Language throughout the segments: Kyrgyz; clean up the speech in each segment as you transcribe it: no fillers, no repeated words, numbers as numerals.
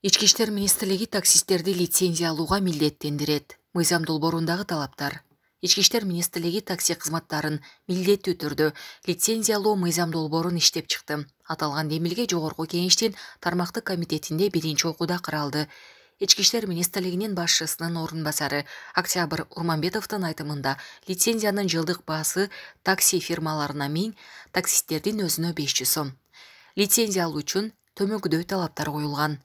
Ички иштер министрлиги таксисттерди лицензия алууга милдеттендирет. Мыйзам долбоорундагы талаптар. Ички иштер министрлиги такси кызматтарын милдеттүү түрдө лицензия алуу мыйзам долбоорун иштеп чыкты. Аталган демилге жогорку кеңештин тармактык комитетинде биринчи окууда каралды. Ички иштер министрлигинин башчысынын орун басары Октябрь Урманбетовдун айтымында лицензиянын жылдык баасы такси фирмаларына 1000, таксисттердин өзүнө 500 сом. Лицензия алуу үчүн төмөкүдөй талаптар коюлган.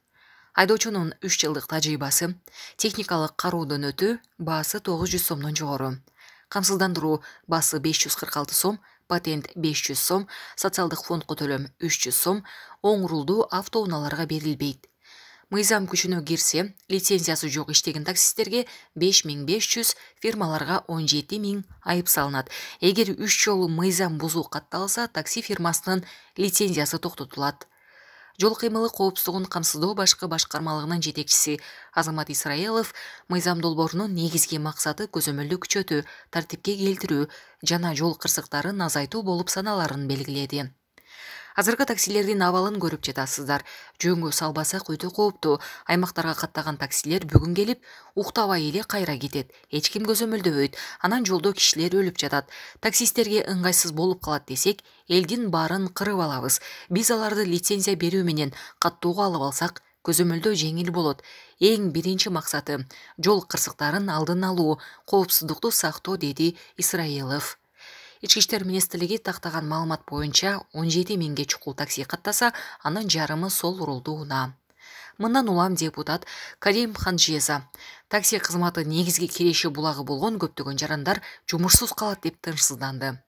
Айдоочунун 3 жылдык тажрыйбасы, техникалык кароодон өтүү баасы 900 сомдон жогору. Камсыздандыруу баасы 546 сом, патент 500 сом, социалдык фондко төлөм 300 сом, оң рулдуу автоунааларга берилбейт. Мыйзам күчүнө кирсе, лицензиясы жок иштеген таксисттерге 5500, фирмаларга 17000 айып салынат. Эгер 3 жолу мыйзам бузуу катталса, такси фирмасынын лицензиясы токтотулат. Жол кыймылы коопсуздугун камсыздоо башкы башкармалыгынын жетекчиси Азамат Исраилов мыйзам долбоорунун негизги максаты көзөмөлдү күчөтүү, тартипке келтирүү жана жол кырсыктарын азайтуу болуп саналарын белгиледи. Азыркы таксилердин абалын көрүп жатасыздар. Жөнгө салбасак өтө кооптуу. Аймактарга каттаган таксилер бүгүн келип, уктабай эле кайра кетет. Эч ким көзөмөлдөбөйт. Анан жолдо кишилер өлүп жатат. Таксисттерге ыңгайсыз болуп калат десек, элдин баарын кырып алабыз. Биз аларды лицензия берүү менен каттоого алып алсак, көзөмөлдөө жеңил болот. Эң биринчи максаты жол кырсыктарын алдын алуу, коопсуздукту сактоо, деди Исраилов. Ички иштер министрлиги тактаган маалымат боюнча 17000 чукул такси каттаса, анын жарымы сол рулдуу унаа. Мындан улам депутат Карим Ханжеза такси кызматы негизги киреши булагы болгон көптөгөн жарандар жумушсуз калат деп тынчсызданды.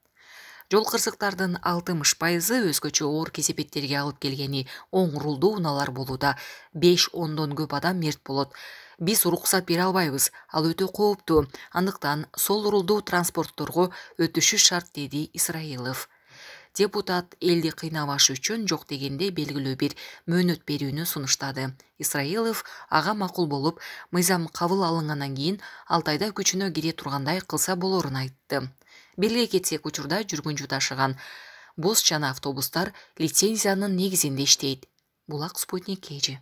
Жол кырсыктардын 60% өзгөчө оор кесепеттерге алып келгени оң рулдуу унаалар болууда. 5-10дон көп адам мерт болот. Биз уруксат бере албайбыз, ал өтө кооптуу. Андыктан сол рулдуу транспортторго өтүшү шарт, деди Исраилов. Депутат элди кыйнабаш үчүн жок дегенде белгилүү бир мөөнөт берүүнү сунуштады. Исраилов ага макул болуп, мыйзам кабыл алынгандан кийин 6 айда күчүнө кире тургандай кылса болорун айтты. Белгилей кетсек, учурда жүргүнчү ташыган бус жана автобустар лицензиянын негизинде иштейт. Булак Спутник KG.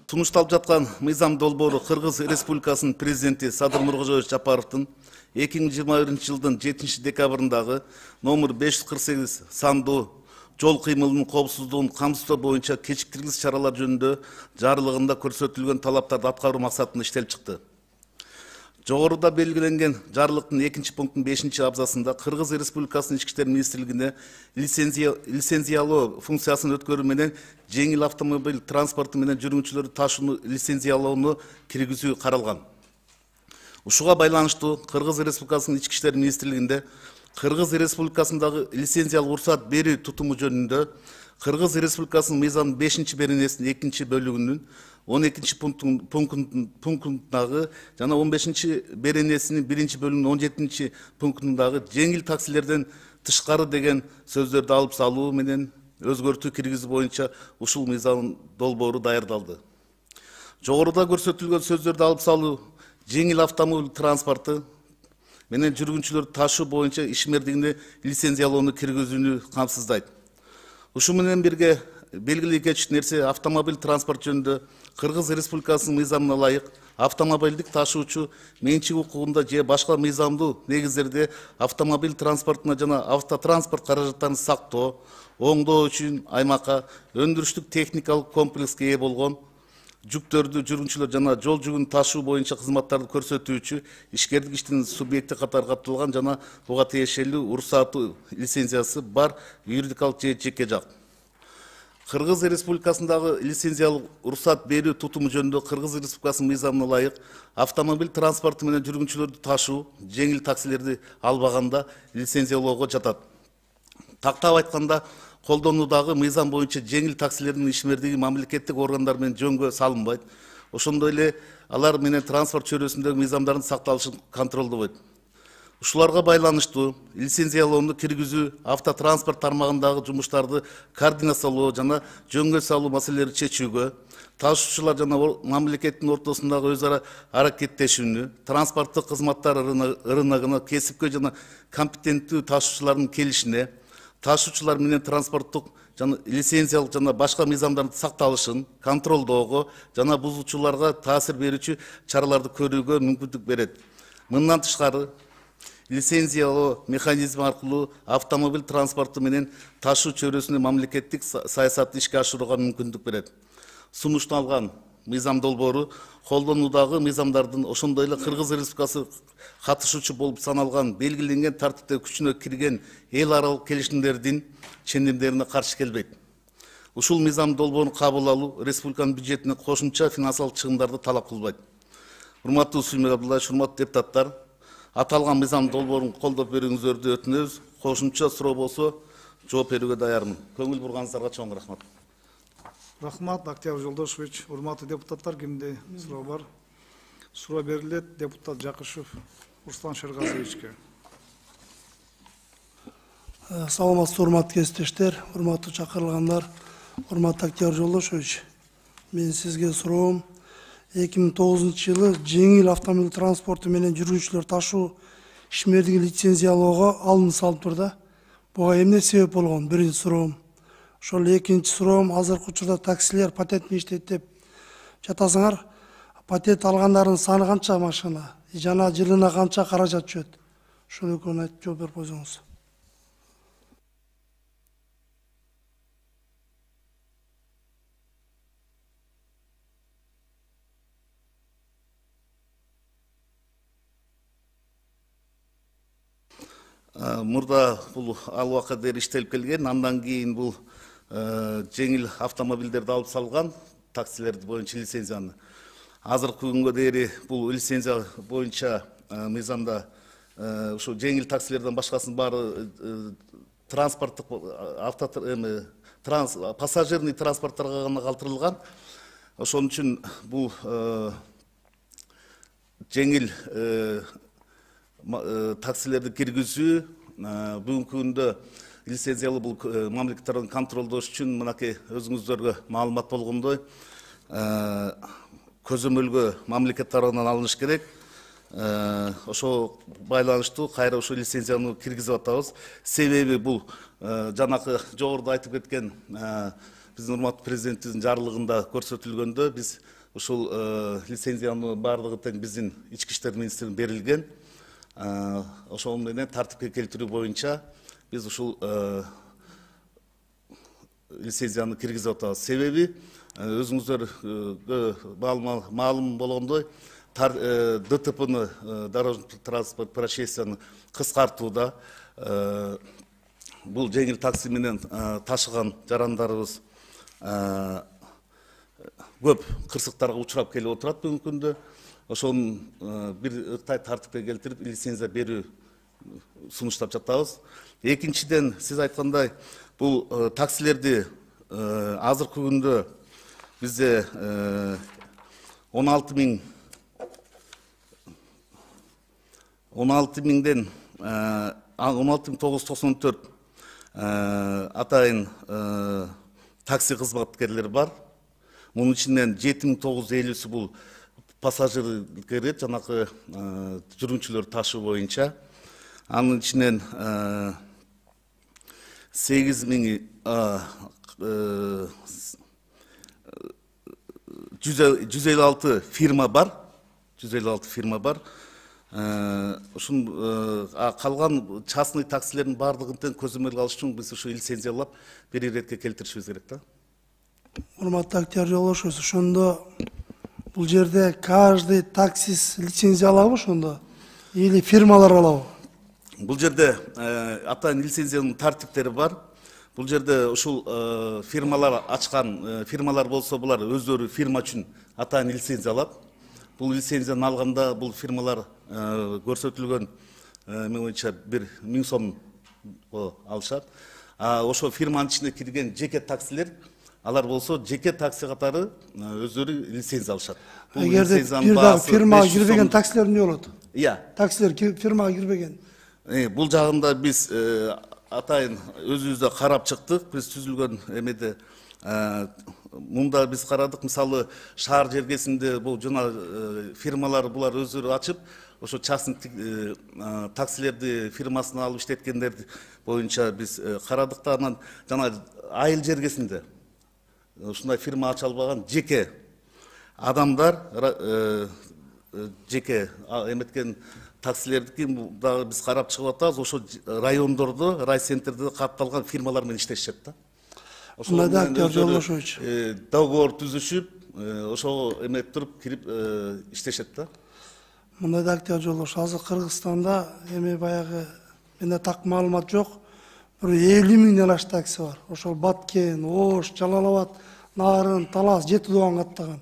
Сунушталып жаткан мыйзам долбоору Кыргыз Республикасынын президенти Садыр Нуркожоевич Жапаровдун 2021 жылдын 7 декабрындагы номер 548 сандуу жол кыймылынын коопсуздугун камсыздоо боюнча кечиктиргис чаралар жөнүндө жарлыгында көрсөтүлгөн талаптарды аткаруу максатында иштелип чыкты. Жогоруда белгиленген жарлыктын 2-пунктунун 5-абзасында Кыргыз Республикасынын Ички иштер министрлигине лицензиялоо функциясын өткөрүү менен жеңил автомобиль транспорту менен жүргүнчүлөрдү ташууну лицензиялоону киргизүү каралган. Ушуга байланыштуу Кыргыз Республикасынын Ички иштер министрлигинде Кыргыз Республикасындагы лицензиялык уруксат берүү тутуму жөнүндө Кыргыз Республикасынын мыйзамынын 5-беренесинин 2-бөлүгүнүн 12-пунктундагы жана 15-беренесинин 1-бөлүгүнүн 17-пунктундагы жеңил таксилерден тышкары деген сөздөрдү алып салуу менен өзгөртүү киргизүү боюнча ушул мыйзам долбоору даярдалды. Жогоруда көрсөтүлгөн сөздөрдү алып салуу жеңил автомобиль транспорту менен жүргүнчүлөрдү ташуу боюнча ишмердигине лицензиялоону киргизүүнү камсыздайт. Ушу менен бирге белгилей кетчү нерсе автомобиль транспорт жөнүндө Кыргыз Республикасынын мыйзамына ылайык автомобилдик ташуучу менчик укугунда же башка мыйзамдуу негиздерде автомобиль транспортуна жана автотранспорт каражаттарын сактоо, оңдоо үчүн аймакка өндүрүштүк техникалык комплекске ээ болгон жүктөрдү жүргүнчүлөр жана жол жүгүн ташуу боюнча кызматтарды көрсөтүүчү ишкердик иштин субъекти катары катталган жана буга тиешелүү уруксаты лицензиясы бар юридикалык же жеке жак. Кыргыз Республикасындагы лицензиялык уруксат берүү тутуму жөнүндө Кыргыз Республикасынын мыйзамына ылайык автомобиль транспорту менен жүргүнчүлөрдү ташуу, жеңил таксилерди албаганда лицензиялоого жатат. Тактап айтканда, колдонуудагы мыйзам боюнча жеңил таксилердин ишмердиги мамлекеттик органдар менен жөнгө салынбайт. Ошондой эле алар менен транспорт чөйрөсүндөгү мыйзамдардын сакталышын контролдобойт. Ушуларга байланыштуу лицензиялоону киргизүү, автотранспорт тармагындагы жумуштарды координациялоо жана жөнгө салуу маселелерин чечүүгө, ташуучулар жана мамлекеттин ортосундагы өз ара аракеттешүүнү, транспорттук кызматтар рыногуна кесипкө жана компетенттүү ташуучулардын келишине, ташуучулар менен транспорттук жана лицензиялык жана башка мыйзамдардын сакталышын контролдоого жана бузуучуларга таасир берүүчү чараларды көрүүгө мүмкүндүк берет. Мындан тышкары лицензиялоо механизми аркылуу автомобиль транспорту менен ташуу чөйрөсүнүн мамлекеттик саясатын ишке ашырууга мүмкүндүк берет. Сунушталган мыйзам долбоору колдонуудагы мыйзамдардын ошондой эле Кыргыз Республикасы катышуучу болуп саналган белгиленген тартипте күчүнө кирген эл аралык келишимдердин чендимдерине каршы келбейт. Ушул мыйзам долбоорун кабыл алуу республиканын бюджетине кошумча финансылык чыгымдарды талап кылбайт. Урматтуу Сүймөй Абдуллаевич, урматтуу депутаттар, аталган мыйзам долбоорун колдоп берүүңүздөрдү өтүнөбүз. Кошумча суроо болсо жооп берүүгө даярмын. Көңүл бурганыңыздарга чоң рахмат. Рахмат, Октябрь Жолдошевич. Урматтуу депутаттар, кимде суроо бар? Суроо берилет. Депутат Жакышев Руслан Шергазиевичке. Саламатсызбы, урматтуу кесиптештер, урматтуу чакырылгандар, урматтуу Октябрь Жолдошевич. Мен сизге суроом, 2009-жылы жеңил автомобиль транспорту менен жүргүнчүлөр ташуу ишмердиги лицензиялоого алым салып турда. Буга эмне себеп болгон? Биринчи суроом. Ошол экинчи суроом, азыркы учурда таксилер патент иштейт деп жатасыңар. Патент алгандардын саны канча машина? Жана жылына канча каражат түшөт? Ошол экөөнү айтып жооп берип койсоңуз. Мурда бул ал убакка дейин иштелип келген, андан кийин бул жеңил автомобилдерди алып салган таксилер боюнча лицензияны. Азыркы күнгө дейин бул лицензия боюнча мыйзамда ушу жеңил таксилерден башкасынын баары транспорттук пассажирный транспорттарга гана калтырылган. Ошон үчүн бул жеңил таксилерди киргизүү бүгүнкү күндө лицензиялуу бул мамлекет тарабынан контролдош үчүн мынакей өзүңүздөргө маалымат болгондой көзөмөлгө мамлекет тарабынан алыныш керек. Ошо байланыштуу кайра ошо лицензияны киргизип атабыз. Себеби бул жанакы жогоруда айтып кеткен биздин урматтуу президентибиздин жарлыгында көрсөтүлгөндө биз ушул лицензиянын баардыгы тең биздин ички иштер министрлигине берилген. Ошол менен тартипке келтирүү боюнча биз ушул лицензияны киргизип атабыз. Себеби өзүңүздөргө маалым болгондой ДТПны, дорожный транспорт происшествияны кыскартууда бул жеңил такси менен ташыган жарандарыбыз көп кырсыктарга учурап келип отурат бүгүнкү күндө. Ошонун бир ыктай тартипке келтирип лицензия берүү сунуштап жатабыз. Экинчиден, сиз айткандай, бул таксилерди азыркы күндө бизде 16 миңден 16.994 атайын такси кызматкерлери бар. Мунун ичинен 7.950-сі бул пассажир кирет, жанакы жүргүнчүлөр ташуу боюнча. Анын ичинен 156 фирма бар. 156 фирма бар. Ушун калган частный таксилердин баардыгын тең көзөмөлгө алыш үчүн биз ушу лицензиялап бир иретке келтиришибиз керек да. Урматтуу Октябрь Жолдошевич, ошондо бул жерде каждый таксист лицензия алабы ошондо или фирмалар алабы? Бул жерде атайын лицензиянын тартиптери бар. Бул жерде ушул фирмалар ачкан фирмалар болсо, булар өздөрү фирма үчүн атайын лицензия алат. Бул лицензияны алганда бул фирмалар көрсөтүлгөн мен боюнча 1000 сом алышат. Ошо фирманын ичине кирген жеке таксилер, алар болсо жеке такси катары өздөрү лицензия алышат. Эгерде фирмага кирбеген таксилер эмне болот? Таксилер фирмага кирбеген. Бул жагында биз атайын өзүбүздө карап чыктык. Биз түзүлгөн эмеде мында биз карадык, мисалы шаар жергесинде бул жана фирмалар булар өздөрү ачып, ошо частный таксилерди фирмасына алып иштеткендер боюнча биз карадык да, анан жана айыл жергесинде ушундай фирма ача албаган жеке адамдар, жеке эметкен таксилердики дагы биз карап чыгып атабыз. Ошо райондордо, райцентрде катталган фирмалар менен иштешет да. Ошондой да, актер Жолдошович. Договор түзүшүп, ошого эмеп туруп кирип иштешет да. Мындай да, актер Жолдош, азыр Кыргызстанда эми баягы менде так маалымат жок. Bir 50 миңден аш такси бар. Ошол Баткен, Ош, Жалал-Абад, Нарын, Талас, Жети Дуан каттаган.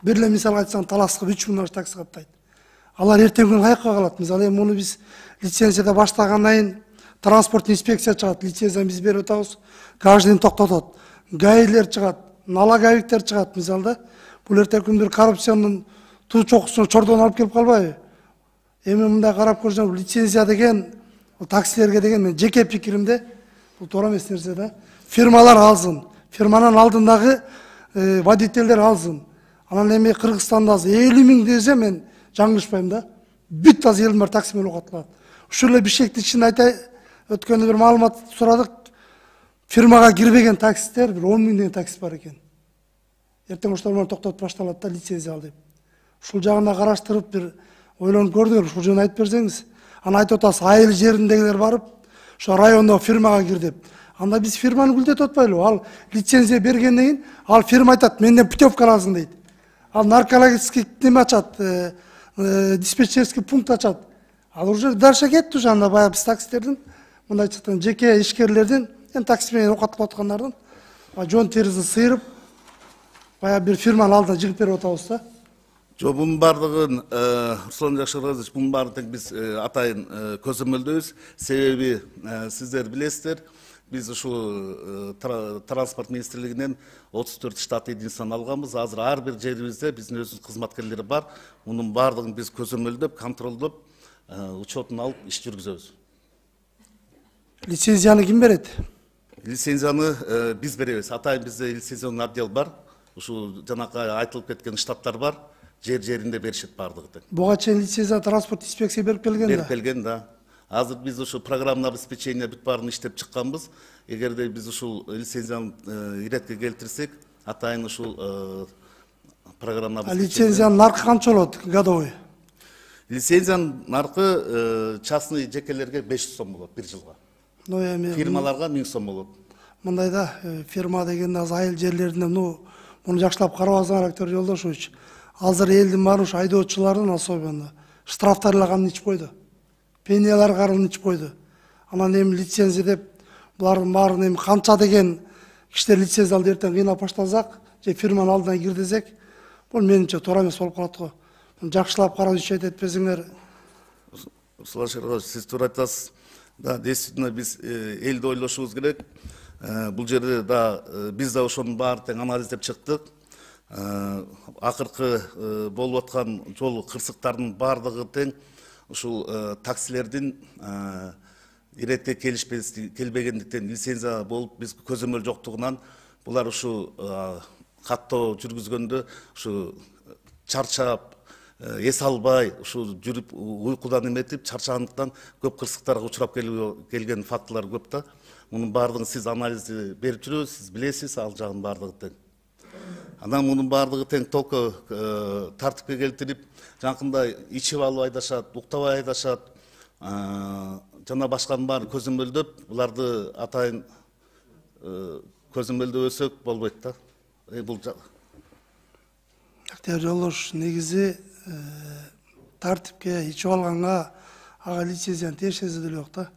Бир эле мисал айтсаң, Таласка 3 миңден аш такси каттайт. Алар эртең күнү каяка калат? Мисалы эми муну биз лицензияда баштагандан кийин транспорт инспекция чыгат, лицензияны биз берип атабыз, каждыйын токтотот. Гаилер чыгат, налоговиктер чыгат, мисалы да. Бул эртең күнү бир коррупциянын туу чокусуна чордон алып келип калбайбы? Эми мындай карап көрсөң, лицензия деген таксилерге деген мен жеке пикиримде бул туура эмес нерсе да. Фирмалар алсын, фирманын алдындагы водительдер алсын. Анан эми Кыргызстанда 50 миң десе мен жаңылышпайм да. Бүт аз элдин баары такси менен окутулат. Ушул эле бишкекти ичин айтay, өткөндө бир маалымат сурадык. Фирмага кирбеген таксистер бир 10 миңден такси бар экен. Эртең ошолор менен токтотуп башталат да, лицензия ал деп. Ушул жагына караштырып бир ойлонуп көрдүңөр, ушул жөнүндө айтып берсеңиз. Аны айтып атасыз, айыл жериндегилер барып, ошо райондо фирмага кир деп. Анда биз фирманы гүлдетип атпайлыбы? Ал лицензия бергенден кийин, ал фирма айтат, менден путевка аласың дейт. Ал наркологический неме ачат, диспетчерский пункт ачат. Ал уже дальше кетти уже, анда баягы биз таксистердин, мындайча жеке ишкерлердин, такси менен окутулуп аткандардын жон терисин сыйрып, баягы бир фирманын алдына жыгып берип атабыз да. Жо, бунун бардыгын Руслан Жакшырбаевич, бунун баардыгын биз атайын көзөмөлдөйбүз. Себеби сиздер билесиздер, биз ушул транспорт министрлигинен 34 штат единицаны алганбыз. Азыр ар бир жерибизде биздин өзүбүздүн кызматкерлери бар. Мунун баардыгын биз көзөмөлдөп, контролдоп, учетун алып иш жүргүзөбүз. Лицензияны ким берет? Лицензияны биз беребиз. Атайын бизде лицензиялык отдел бар. Ушул жанакы айтылып кеткен штаттар бар. Жер-жеринде беришет бардыгы. Буга чейин лицензия транспорт инспекция берип келген да. Берип келген да. Азыр биз ушул программный обеспечение бүт баарын иштеп чыкканбыз. Эгерде биз ушул лицензияны иретке келтирсек, атайын ушул программный обеспечение. Лицензиянын наркы канча болот годовой? Лицензиянын наркы частный жекелерге 500 сом болот бир жылга. Фирмаларга 1000 сом болот. Мындай да, фирма деген аз айыл жерлеринде, муну жакшылап карабасаңар, актер Жолдошович. Азыр элдин баары ушу айдоочулардын особенно штрафтар эле каны ичип койду. Пенялар карын ичип койду. Анан эми лицензия деп булардын баарын эми канча деген кишилер лицензия алып эртең кыйнап баштасак, же фирманын алдына кир десек, бул менимче туура эмес болуп калат го. Жакшылап карап ишет этпесеңер. Руслан Шергаевич, сиз туура айтасыз. Да, действительно биз элди ойлошубуз керек. Бул жерде да биз да ошонун баарын тең анализдеп чыктык. Акыркы болуп аткан жол кырсыктардын баардыгы тең ушул таксилердин иретке келбегендиктен, лицензия болуп биз көзөмөл жоктугунан булар ушу каттоо жүргүзгөндө ушу чарчап, эс албай, ушу жүрүп уйкудан эметип чарчагандыктан көп кырсыктарга учурап келген фактылар көп да. Мунун баардыгын сиз анализди берип жүрөбүз, сиз билесиз ал жагын баардыгы тең. Анан мунун баардыгы тең толко тартипке келтирип, жанакындай ичип алып айдашат, уктабай айдашат, жана башканын баарын көзөмөлдөп, буларды атайын көзөмөлдөбөсөк болбойт да. Бул Актер Жолдош, негизи тартипке ичип алганга ага лицензияны тиешеси деле жок да.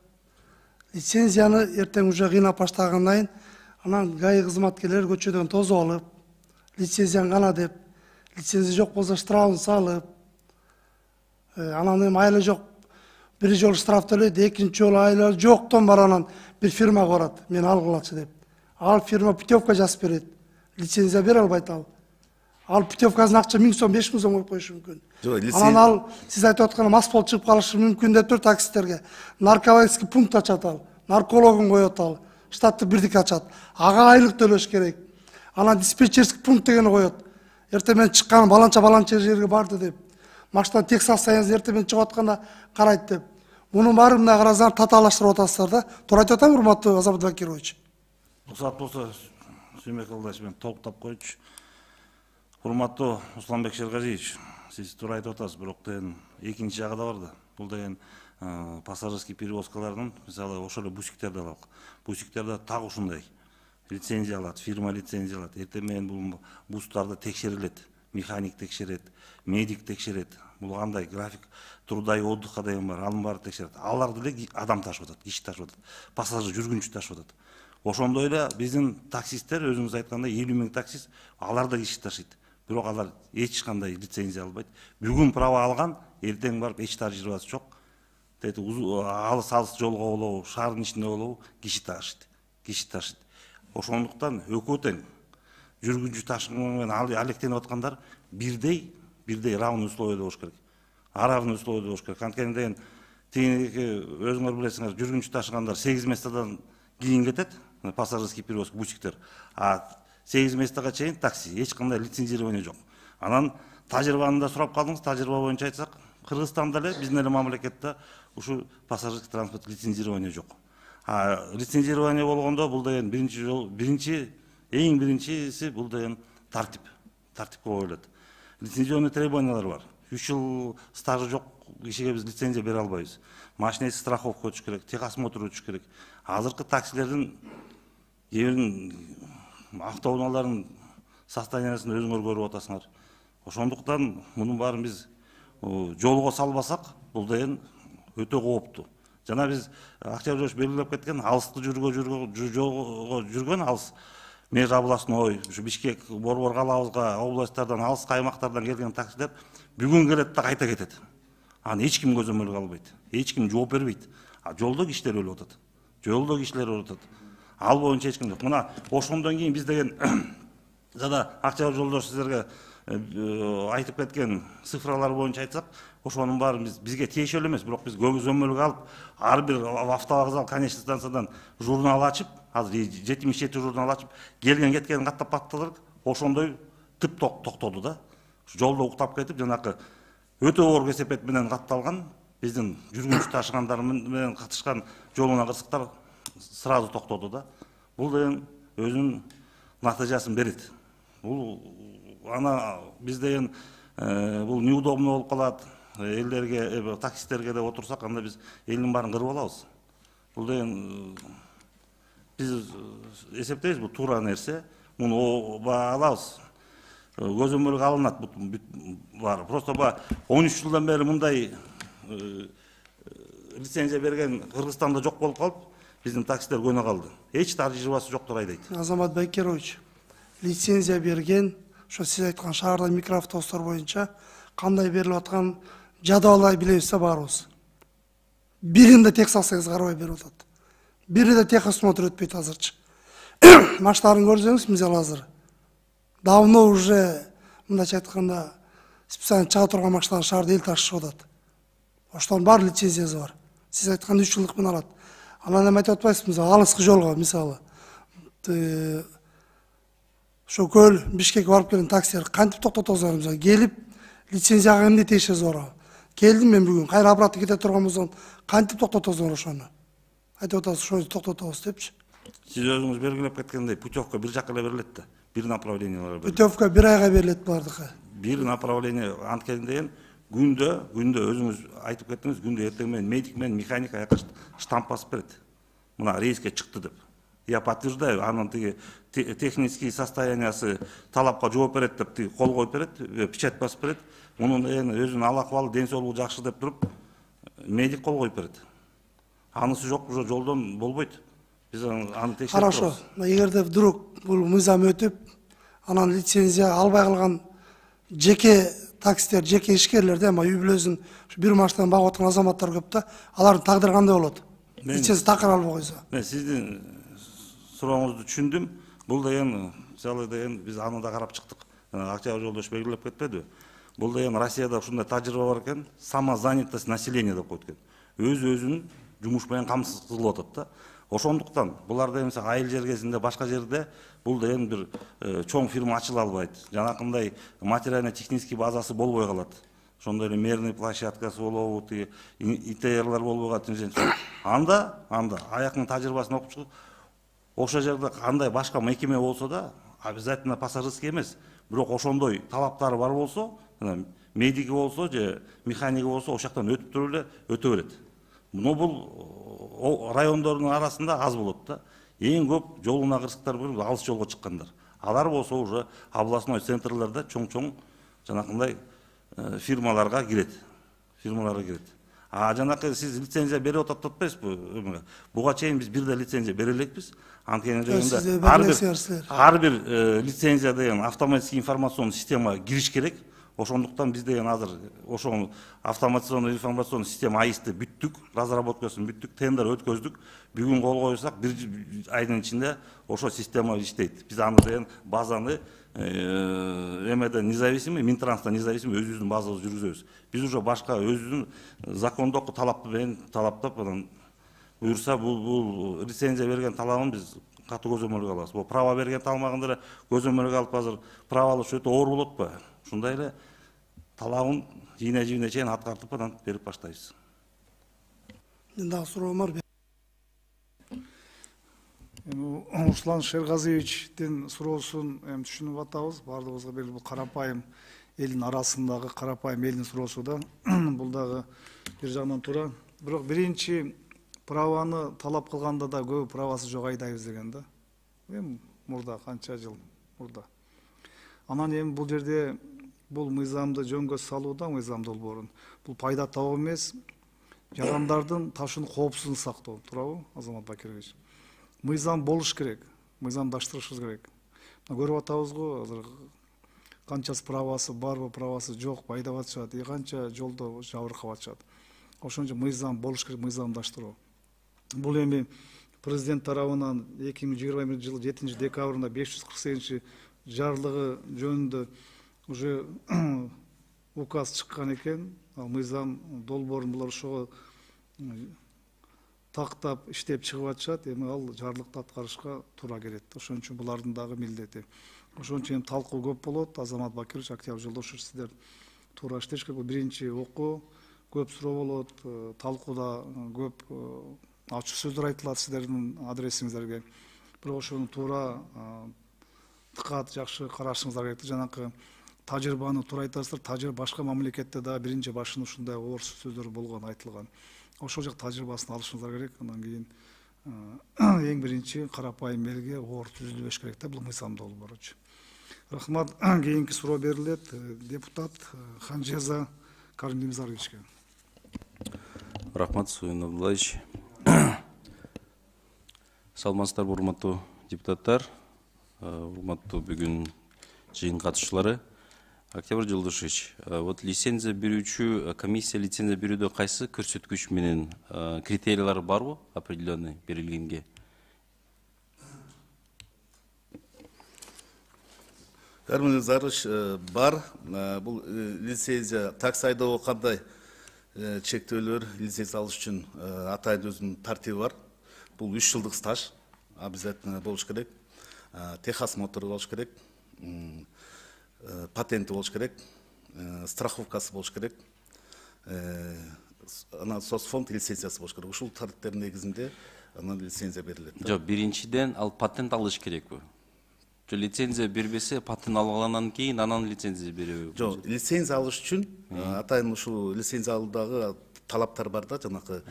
Лицензияны эртең уже кыйнап баштагандан кийин анан ГАИ кызматкерлери көчөдөн тосуп алып, лицензияң кана деп, лицензия жок болсо штрафын салып, анан эми айла жок, бир жолу штраф төлөйт, экинчи жолу айла жоктон бар анан бир фирмага барат, мен алгылачы деп. Ал фирма путевка жазып берет, лицензия бере албайт ал. Ал путевкасын акча 1000 сом, 5000 сом коюп коюшу мүмкүн. Анан ал сиз айтып аткан мас болуп чыгып калышы мүмкүн деп тур таксистерге. Наркологический пункт ачат ал, наркологун коет ал, штаттык бирдик ачат. Ага айлык төлөш керек. Анан диспетчерский пункт дегени коет. Эртең мен чыккан баланча жерге барды деп. машина тек состояние эртең чыгып атканда карайт деп. Мунун баары мына карасаңар татаалаштырып атасыздар да. Туура айтып атам, урматтуу Азамат Бакирович? Уруксат болсо Сүймек Алдаш менен толуктап койчу. Урматтуу Русланбек Шергалиевич, сиз туура айтып атасыз, бирок деген экинчи жагы да бар да. Бул деген пассажирский перевозкалардын, мисалы ошол эле бусиктерди алалык. Бусиктерде так ушундай лицензия алат, фирма лицензия алат. Эртең менен бул бустарды текшерилет, механик текшерет, медик текшерет. Бул кандай график труда и отдыха деген бар, анын баары текшерет. Алар деле адам ташып атат, киши ташып атат, пассажир жүргүнчү ташып атат. Ошондой эле биздин таксисттер, өзүңүз айткандай 50 000 таксист, алар да киши ташыйт. Бирок алар эч кандай лицензия албайт. Бүгүн права алган, эртең барып эч тажрыйбасы жок. Алыс жолго болобу, шаардын ичинде болобу, киши ташыйт. Киши ташыйт. Ошондуктан экөө тең жүргүнчү ташыган менен алектенип аткандар бирдей равный условияда болуш керек. Равный условияда болуш керек. Анткени деген өзүңөр билесиңер, жүргүнчү ташыгандар 8 местадан кийин кетет, пассажирский перевозка, бусиктер. А 8 местага чейин такси, эч кандай лицензирование жок. Анан тажрыйбаны да сурап калдыңыз, тажрыйба боюнча айтсак, Кыргызстанда эле, биздин эле мамлекетте ушу пассажирский транспорт лицензирование жок. А лицензирование болгондо бул деген эң биринчиси бул деген тартипке коюлат. Лицензионный требованиялар бар. 3 жыл стажы жок кишиге биз лицензия бере албайбыз. Машинеси страховка өтүш керек, техосмотр өтүш керек. Азыркы таксилердин автоунаалардын состояниясын өзүңөр көрүп атасыңар. Ошондуктан мунун баарын биз жолго салбасак, бул деген өтө кооптуу. Жана биз Октябрь белгилеп кеткен алысты жүргөн алыс меж областной, Бишкек, Борбор калабызга, областтардан, алыс аймактардан келген таксилер бүгүн келет да кайта кетет. Аны эч ким көзөмөлгө албайт. Эч ким жооп бербейт. А жолдо кишилер өлүп атат. Ал боюнча эч ким жок. Мына ошондон кийин биз деген жада Октябрь жолдош сиздерге айтып кеткен цифралар боюнча айтсак, ошонун баары бизге тиешелүү эмес, бирок биз көзөмөлгө алып, ар бир автовокзал конечный станциядан журнал ачып, азыр 77 журнал ачып, келген кеткенин каттап бактылар, ошондой тип токтоду да. Жолдо уктап кетип, жанакы өтө оор кесепет менен катталган биздин жүргүнчү ташыгандар менен катышкан жолуна кырсыктар сразу токтоду да. Бул деген өзүнүн натыйжасын берет. Бул ана биз деген бул неудобно болуп калат. Элдерге, таксисттерге деп отурсак, анда биз элдин баарын кырып алабыз. Бул деген биз эсептейбиз, бул туура нерсе. Муну алабыз. Көзөмөлгө алынат бар. Просто 13 жылдан бери мындай лицензия берген Кыргызстанда жок болуп калып, биздин таксистер көйнө калды. Эч тажрыйбасы жоктур айдайт. Азамат Бакирович, лицензия берген, ошо сиз айткан шаарда микроавтобустар боюнча кандай берилип аткан жадыбалай билебиз да баарыбыз. Биринде техсалсаңыз карабай берип атат. Биринде техосмотр өтпөйт азырчы. Машиналарын көрсөңүз, мисалы азыр давно уже мындайча айтканда специально чыга турган машиналар шаарда эл ташышып атат. Ошонун баары лицензиясы бар. Сиз айткан 3 жылдык менен алат. Анан эме айтып атпайсызбы, алыскы жолго мисалы ошо Көл, Бишкекке барып келген таксилер кантип токтотосуңар, мисалы келип лицензияга эмне тиешеси бар? Келдим мен бүгүн, кайра обратно кете турган болсом, кантип токтотосуңар ошону? Айтып атасыз, ошону токтотобуз депчи. Сиз өзүңүз белгилеп кеткендей, путевка бир жакка эле берилет да. Бир направлениялар берилет. Путевка бир айга берилет булардыкы. Бир направление анткени деген күндө өзүңүз айтып кеттиңиз, күндө эртең менен медик менен механик аяка штамп басып берет. Мына рейске чыкты деп. Я подтверждаю, анын тиги технический состояниясы талапка жооп берет деп тиги кол коюп берет, печать басып берет. Мунун өзүнүн ал акыбалы, ден соолугу жакшы деп туруп медик кол коюп берет. Анысы жок, уже жолдон болбойт. Биз аны текшерип турабыз. Хорошо. Эгерде вдруг бул мыйзам өтүп, анан лицензия албай калган жеке таксистер, жеке ишкерлерде, үй бүлөсүн бир машинадан багып аткан азаматтар көп да, алардын тагдыры кандай болот? Лицензия такыр албай койсо. Мен сиздин сурооңузду түшүндүм. Бул деген, мисалы деген биз аны да карап чыктык. Октябрь жолдош белгилеп кетпедиби? Бул деген Россияда ушундай тажрыйба бар экен, самозанятость населения деп коет экен. Өзүнүн жумуш менен камсыз кылып атат да. Ошондуктан булар деген айыл жергесинде, башка жерде бул деген бир чоң фирма ачыла албайт. Жанакындай материально-технический базасы болбой калат. ошондой эле мерный площадкасы болобу, тиги ИТРлар болбой калат. Анда аяктын тажрыйбасын окуп чыгып, ошол жерде кандай башка мекеме болсо да, обязательно пассажирский эмес, бирок ошондой талаптары бар болсо, медики болсо же механики болсо, ошол жактан өтүп туруп эле өтө берет. Но бул райондордун арасында аз болот да. Эң көп жолуна кырсыктар алыс жолго чыккандар. Алар болсо уже областной центрларда чоң-чоң жанакындай фирмаларга кирет. А жанакы сиз лицензия берип атат атпайсызбы? Буга чейин биз бир да лицензия бере элекпиз. Анткени дегенде ар бир лицензия деген автоматический информационный система кириш керек. Ошондуктан биз деген азыр ошол автоматизационный информационный система АИСти бүттүк, разработкасын бүттүк, тендер өткөздүк. Бүгүн кол койсак, бир айдын ичинде ошол система иштейт. Биз аны деген базаны эмеден независимый, Минтранстан независимый өзүбүздүн базабызды жүргүзөбүз. Биз уже башка өзүбүздүн закондук талапты менен талаптап, анан буюрса бул лицензия берген талабын биз катуу көзөмөлгө алабыз. Бул право берген талмагында эле көзөмөлгө алып азыр право алыш өтө оор болот ба? Ушундай эле талабын жийне чейин аткартып анан берип баштайбыз. Мен дагы суроом бар. Руслан Шергазиевичтин суроосун түшүнүп атабыз. Бардыгыбызга белгилүү, бул карапайым элдин арасындагы карапайым элдин суроосу да. Бул дагы бир жагынан туура. Бирок биринчи праваны талап кылганда да көбү правасы жок айдайбыз деген да. Эми мурда канча жыл мурда. Анан эми бул жерде бул мыйзамды жөнгө салууда, мыйзам долбоорун, бул пайда табуу эмес, жарандардын ташуунун коопсуздугун сактоо, туурабы, Азамат Бакирович? Мыйзам болуш керек, мыйзамдаштырышыбыз керек. Көрүп атабыз го, азыр канчасы правасы барбы, правасы жок, айдап атышат, канча жолдо жабыркап атышат. Ошон үчүн мыйзам болуш керек, мыйзамдаштыруу. Бул эми президент тарабынан 2021 жылы 7 декабрында 548 жарлыгы жөнүндө уже указ чыккан экен. Ал мыйзам долбоорун булар ошого тактап иштеп чыгып атышат. Эми ал жарлыкты аткарышка туура келет. Ошон үчүн булардын дагы милдети. Ошон үчүн талкуу көп болот. Азамат Бакирович, Октябрь Жолдошев, сиздер туура иштеш керек. Биринчи окуу, көп суроо болот, талкууда көп ачык сөздөр айтылат сиздердин адресиңиздерге. Бирок ошону туура дыкат жакшы карашыңыздар керек. Жанакы тажрыйбаны туура айтасыздар. Тажрыйба башка мамлекетте да биринчи башын ушундай оор сөздөр болгон, айтылган. Ошол жак тажрыйбасын алышыңыздар керек. Андан кийин эң биринчи карапайым элге оор түзүлбөш керек да, бул мыйзам долбоору. Рахмат. Кийинки суроо берилет. Депутат Ханжеза Каримдимзаровичке. Рахмат, Суин Абдуллаевич. Саламатсыздарбы, урматтуу депутаттар, урматтуу бүгүн жыйын катышуулары. Октябрь Жолдошевич, вот лицензия берүүчү комиссия лицензия берүүдө кайсы көрсөткүч менен критериялар барбы определенный берилгенге? Каримдимзарович, бар. Бул лицензия такси айдоого кандай чектөөлөр, лицензия алыш үчүн атайын өзүнүн тартиби бар. Бул 3 жылдык стаж обязательно болуш керек. Техосмотр болуш керек. Патенти болуш керек. Страховкасы болуш керек. Анан соцфонд лицензиясы болуш керек. Ушул тартиптердин негизинде анан лицензия берилет. Жок, биринчиден ал патент алыш керекпи? Жо лицензия бербесе, патент алгандан кийин анан лицензия береби? Жок, лицензия алыш үчүн атайын ушул лицензия алуудагы талаптар бар да, жанакы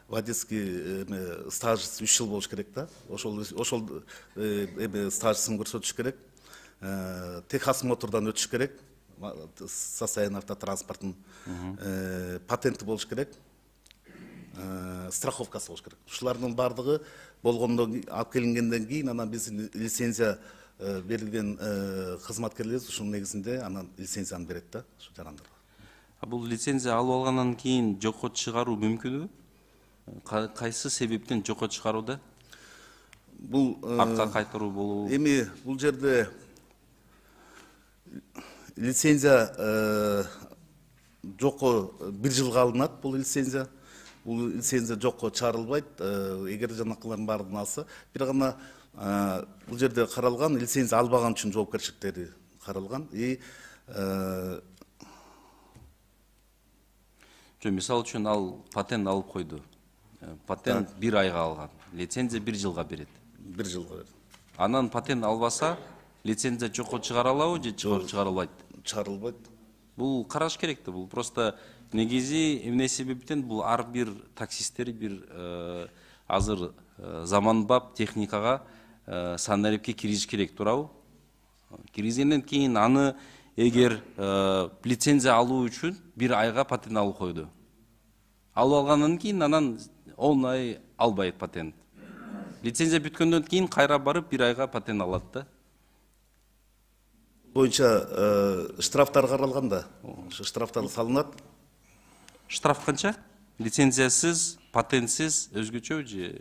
водительский стаж 3 жыл болуш керек да. Ошол стажсын көрсөтүш керек. Техосмотрдан өтүш керек. Состояние автотранспорттун патенти болуш керек. Страховкасы болуш керек. Ушулардын бардыгы болгондон алып келингенден кийин анан биз лицензия берилген кызматкерлер ушунун негизинде анан лицензияны берет да, ушу жарандарга. Бул лицензия алып алгандан кийин жокко чыгаруу мүмкүнбү? Кайсы себептен жокко чыгарууда? Бул артка кайтаруу болобу? Эми бул жерде лицензия жокко 1 жылга алынат. Бул лицензия жокко чыгарылбайт. Эгер жанакылардын баардыгын алса, бир гана бул жерде каралган лицензия албаган үчүн жоопкерчиликтери каралган. Мисалы үчүн ал патент алып койду. Патент 1 айга алган. Лицензия 1 жылга берет. 1 жылга берет. Анан патент албаса, лицензия жокко чыгара алабы же чыгара албайт? Чыгарылбайт. Бул караш керек да. Бул просто негизи эмне себептен бул ар бир таксисттер бир азыр заманбап техникага санариптке киргизиш керек, туурабы? Киргизгенден кийин аны эгер лицензия алуу үчүн 1 айга патент алып койду. Алып алгандан кийин анан 10 ай албайт патент. Лицензия бүткөндөн кийин кайра барып 1 айга патент алат да. Боюнча штрафтар каралган да. Ошо штрафтар салынат. Штраф канча? Лицензиясыз, патентсиз өзгөчөбү же?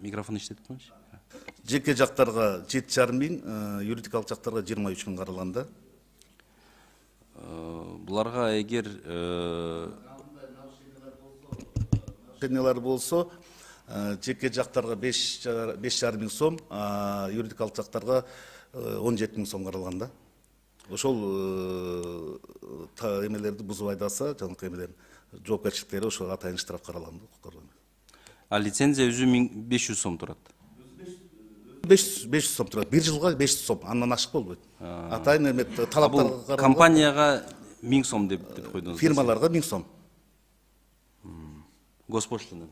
Микрофон иштетип коюңузчу. Жеке жактарга 7,5 миң, юридикалык жактарга 23 миң каралган да. Буларга эгер нарушениялар болсо, жеке жактарга 5,5 миң сом, юридикалык жактарга 17 миң сом каралган да. Ошол эмелерди бузуп айдаса, жанакы эмелер жоопкерчиликтери ошо атайын штраф каралган да. А лицензия өзү 1500 сом турат. 500 сом турат. 1 жылга 500 сом. Андан ашык болбойт. Атайын эме талаптарга каралган. Компанияга 1000 сом деп койдуңуз. Фирмаларга 1000 сом. Госпоштина.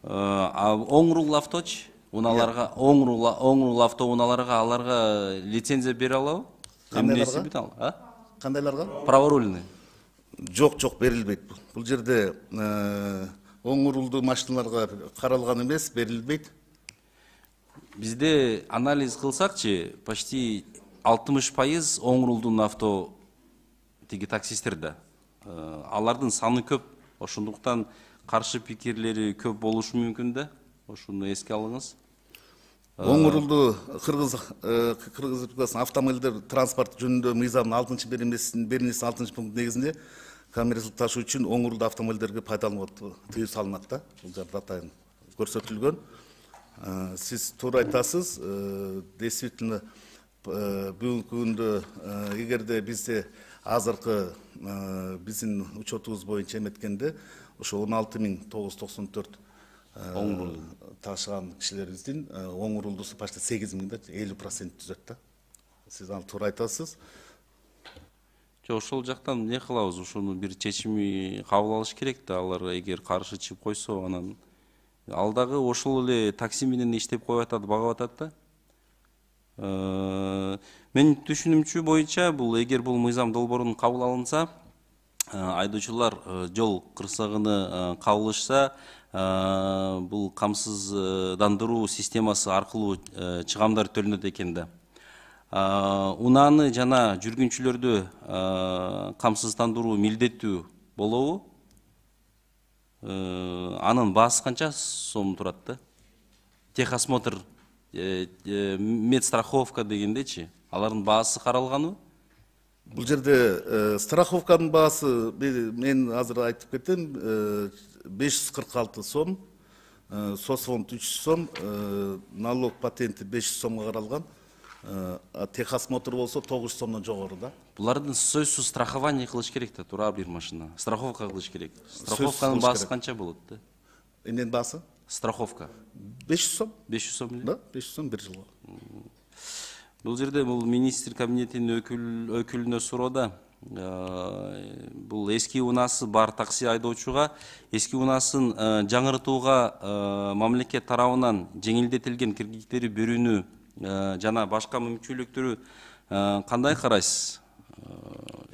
А оңрул авточ уналарга, оңрул авто уналарга аларга лицензия бере алабы? Кандайларга? Кандайларга? Праворульный. Жок, берилбейт. Бул жерде оң рулдуу машиналарга каралган эмес, берилбейт. Бизде анализ кылсакчы, почти 60% оң рулдуу авто тиги таксисттер да. Алардын саны көп, ошондуктан каршы пикирлери көп болушу мүмкүн да. Ошону эске алыңыз. Оң рулдуу Кыргыз Республикасынын автомобилдер транспорт жөнүндө мыйзамдын 6-беренесинин 6 пункт негизинде коммерциялык ташуу үчүн оң рулдуу автомобилдерге пайдаланууга тыюу салынат да. Бул жерде атайын көрсөтүлгөн. Сиз туура айтасыз. Действительно бүгүнкү күндө эгерде бизде азыркы биздин учетубуз боюнча эметкенде ошо 16,994 ташыган кишилерибиздин оң рулдуусу почти 8 миң да, 50% түзөт да. Сиз аны туура айтасыз. Ошол жактан эмне кылабыз? Ошону бир чечими кабыл алыш керек да. Алар эгер каршы чыгып койсо, анан ал дагы ошол эле такси менен иштеп коюп атат, багып атат да. Менин түшүнүмчү боюнча бул эгер бул мыйзам долбоорун кабыл алынса, айдоочулар жол кырсыгына кабылышса, бул камсыздандыруу системасы аркылуу чыгамдар төлөнөт экен да. Унааны жана жүргүнчүлөрдү камсыздандыруу милдеттүү болобу? Анын баасы канча сом турат да? Техосмотр, медстраховка дегендечи, алардын баасы каралганбы? Бул жерде страховканын баасы мен азыр айтып кетем, 546 сом, соцфонд 300 сом, налог патенти 500 сомго каралган. Техосмотр болсо 900 сомдон жогору да. Булардын сөзсүз страхование кылыш керек да, туура бир машина. Страховка кылыш керек. Страховканын баасы канча болот да? Эмненин баасы? Страховка. 500 сом. 500 сом эле? Да, 500 сом 1 жылга. Бул жерде бул министр кабинетинин өкүлүнө суроода, бул эски унаасы бар такси айдоочуга эски унаасын жаңыртууга мамлекет тарабынан жеңилдетилген кредиттери берүүнү жана башка мүмкүнчүлүктөрү кандай карайсыз?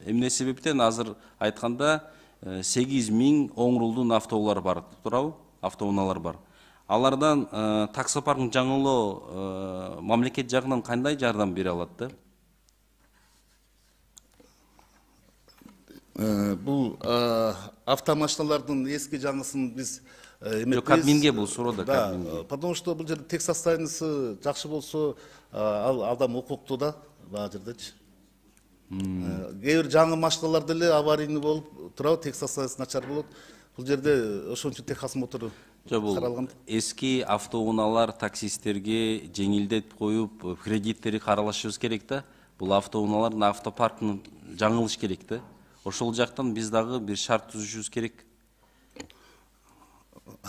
Эмне себептен азыр айтканда 8 миң оң рулдуу автоулар бар, туурабы? Автоунаалар бар. Алардан таксопарктын жаңылоо мамлекет жагынан кандай жардам бере алат да? Бул автомашиналардын эски жаңысын биз эметпейбиз. Кабминге бул суроода, кабминге. Потому что бул жерде тек состояниясы жакшы болсо, ал адам укуктуу да, баа жердечи. Кээ бир жаңы машиналар деле аварийный болуп турабы, тек состояниясы начар болот. Бул жерде ошон үчүн техосмотр каралган. Эски автоунаалар таксисттерге жеңилдетип коюп, кредиттери каралышыбыз керек да. Бул автоунаалардын автопаркын жаңылыш керек да. Ошол жактан биз дагы бир шарт түзүшүбүз керек.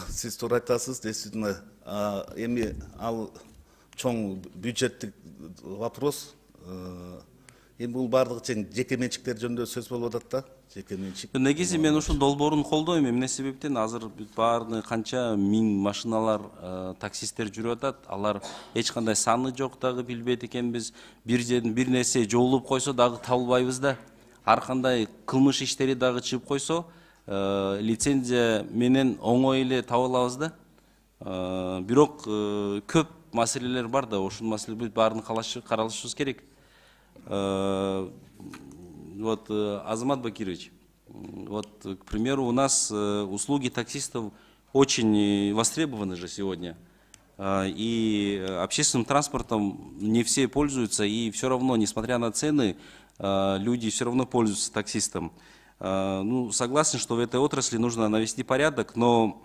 Сиз туура айтасыз, действительно. Эми ал чоң бюджеттик вопрос. Эми бул бардыгы тең жеке менчиктер жөнүндө сөз болуп атат да. Жеке менчик. Негизи мен ушул долбоорун колдойм. Эмне себептен азыр баардыгы канча миң машиналар, таксисттер жүрүп атат. Алар эч кандай саны жок дагы билбейт экенбиз. Бир жерден бир нерсе жоолуп койсо дагы табылбайбыз да. Ар кандай кылмыш иштери дагы чыгып койсо, лицензия менен оңой эле таба алабыз да. Бирок көп маселелер бар да, ошол маселелерди баарын каралышыбыз керек. Вот, Азамат Бакирович, вот, к примеру, у нас услуги таксистов очень востребованы же сегодня. И общественным транспортом не все пользуются, и все равно, несмотря на цены, люди все равно пользуются таксистом. Ну, согласен, что в этой отрасли нужно навести порядок, но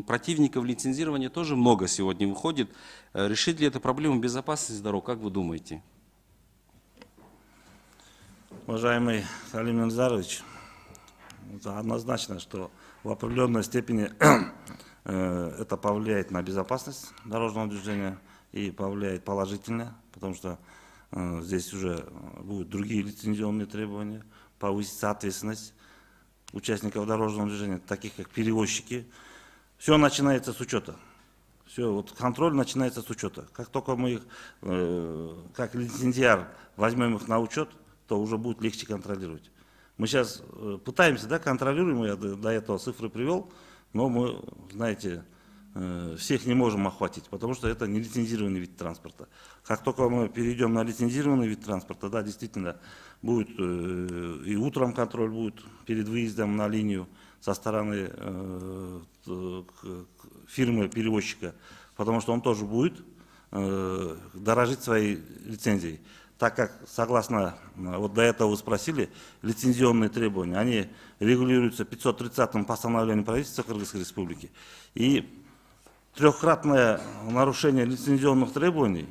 противников лицензирования тоже много сегодня выходит. Решит ли это проблему безопасности дорог, как вы думаете? Уважаемый Халим Нурзарович, однозначно, что в определенной степени это повлияет на безопасность дорожного движения и повлияет положительно, потому что здесь уже будут другие лицензионные требования, повысится ответственность участников дорожного движения, таких как перевозчики. Все начинается с учета. Все, вот контроль начинается с учета. Как только мы их, как лицензиар, возьмем их на учет, то уже будет легче контролировать. Мы сейчас пытаемся, да, контролируем, я до этого цифры привел, но мы, знаете, всех не можем охватить, потому что это нелицензированный вид транспорта. Как только мы перейдем на лицензированный вид транспорта, да, действительно, будет и утром контроль будет перед выездом на линию со стороны фирмы-перевозчика, потому что он тоже будет дорожить своей лицензией. Так как, согласно, вот до этого вы спросили, лицензионные требования, они регулируются 530-м постановлением правительства Кыргызской Республики. И трехкратное нарушение лицензионных требований,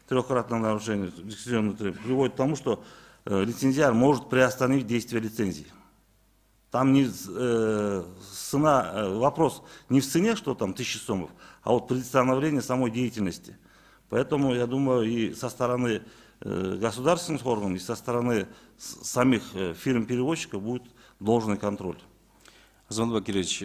приводит к тому, что лицензиар может приостановить действие лицензии. Там не цена, вопрос не в цене, что там 1000 сомов, а вот предоставление самой деятельности. Поэтому, я думаю, и со стороны государственных органов, и со стороны самих фирм-перевозчиков будет должный контроль. Азамат Бакирович,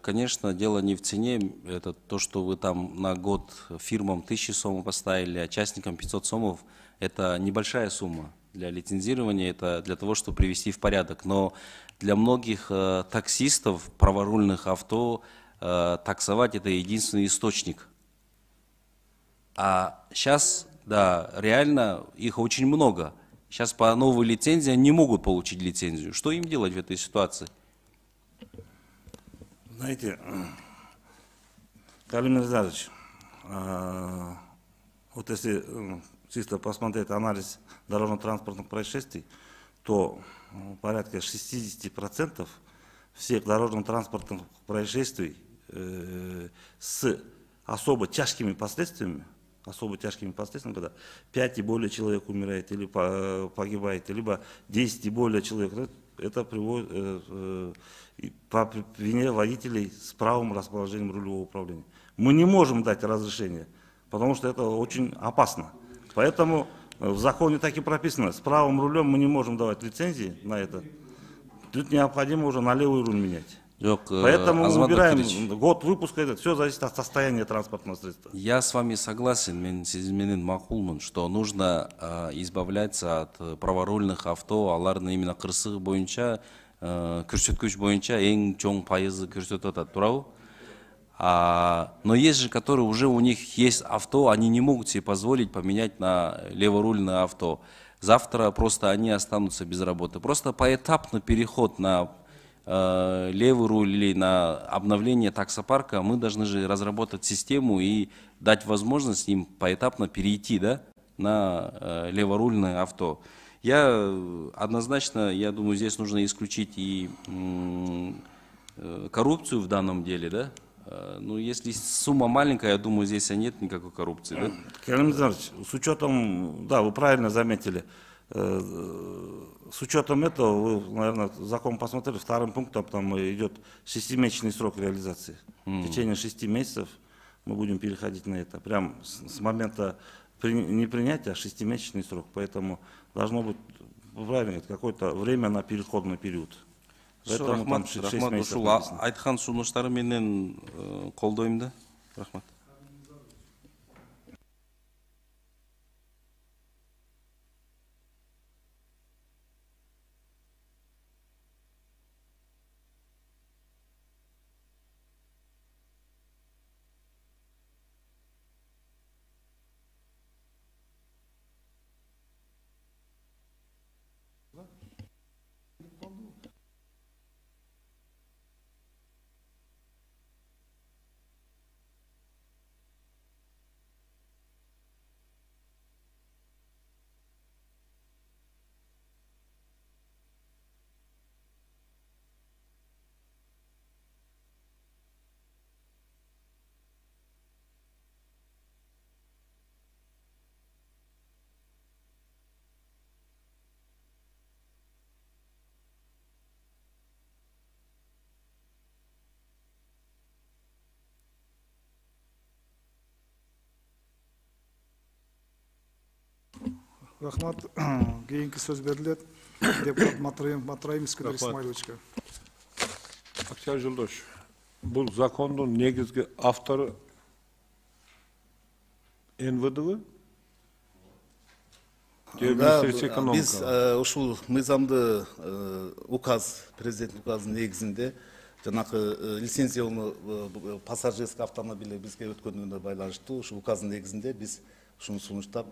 конечно, дело не в цене, это то, что вы там на год фирмам 1000 сомов поставили, а частникам 500 сомов, это небольшая сумма для лицензирования, это для того, чтобы привести в порядок. Но для многих таксистов, праворульных авто, таксовать это единственный источник. А сейчас, да, реально их очень много. Сейчас по новой лицензии они не могут получить лицензию. Что им делать в этой ситуации? Знаете, Калим Нурзарович, вот если чисто посмотреть анализ дорожно-транспортных происшествий, то порядка 60% всех дорожно-транспортных происшествий с особо тяжкими последствиями, когда 5 и более человек умирает или погибает, либо 10 и более человек, это приводит по вине водителей с правым расположением рулевого управления. Мы не можем дать разрешение, потому что это очень опасно. Поэтому в законе так и прописано, с правым рулем мы не можем давать лицензии на это. Тут необходимо уже на левый руль менять. Поэтому мы убираем год выпуска, это все зависит от состояния транспортного средства. Я с вами согласен, мен сиз менен макулмун, что нужно избавляться от праворульных авто, алардын именно кырсыгы боюнча, көрсөткүч боюнча эң чоң пайызы көрсөтүп атат, туурабы? Но есть же, которые уже у них есть авто, они не могут себе позволить поменять на леворульное авто. Завтра просто они останутся без работы. Просто поэтапный переход на левый руль или на обновление таксопарка мы должны же разработать систему и дать возможность им поэтапно перейти, да, на леворульное авто. Я однозначно, я думаю, здесь нужно исключить и коррупцию в данном деле, да? Ну, если сумма маленькая, я думаю, здесь нет никакой коррупции, да? Кирилл Мизанович, с учетом, да, вы правильно заметили, с учетом этого, вы, наверное, закон посмотрели, вторым пунктом там идет 6-месячный срок реализации. В течение 6 месяцев мы будем переходить на это. Прям с момента не принятия, а 6-месячный срок. Поэтому должно быть, правильно, какое-то время на переходный период. Рахмат, ушул айткан сунуштары менен колдойм да. Рахмат. Рахмат. Кийинки сөз берилет. Депутат Матраим Искандер Исмаиловичке. Октябрь Жолдош, бул закондун негизги автору НВДбы? Биз ушул мыйзамды указ, президент указынын негизинде жанакы лицензиялуу пассажирский автомобиль бизге өткөнүнө байланыштуу ушул указдын негизинде биз ушуну сунуштап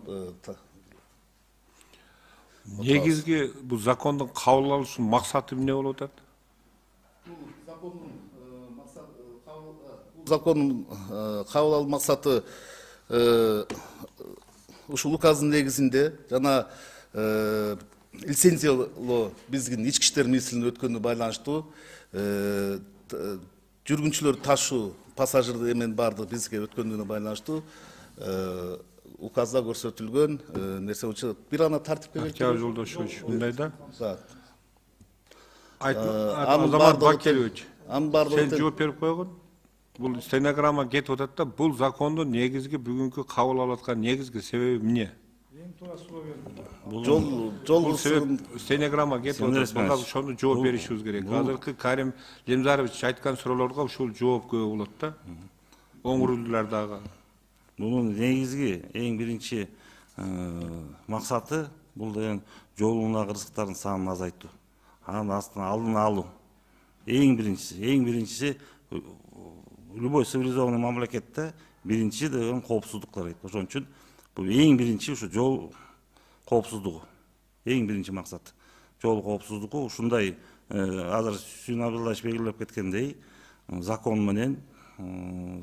негизги бул закондун кабыл алышынын максаты эмне болуп атат? Закондун кабыл алуу максаты ушул указдын негизинде жана лицензиялоо биздин ички иштер министрлигине өткөнүнө байланыштуу жүргүнчүлөр ташуу пассажирдер эмен баардыгы бизге өткөнүнө байланыштуу указда көрсөтүлгөн нерсе боюнча бир гана тартипке Октябрь Жолдошевич, мындай да. Азамат Бакирович, сен жооп берип койгон. Бул стенограмма кетип атат да, бул закондун негизги бүгүнкү кабыл алып аткан негизги себеби эмне? Эң туура суроо бердим. Жол себеп стенограмма кетип атат. Буга ошону жооп беришибиз керек. Азыркы Карим Лемзарович айткан суроолорго ушул жооп көп болот да. Оңурлуулар дагы. Bunun негизги эң биринчи максаты бул деген жолуна кырсыктардын санын азайтуу, анын астына алдын алуу. Эң биринчиси любой цивилизованный мамлекетте биринчи деген коопсуздук дейт. Ошон үчүн бул эң биринчи ушу жол коопсуздугу. Эң биринчи максат жол коопсуздугу. Ушундай азыр Сүйүн Абдуллаевич белгилеп кеткендей закон менен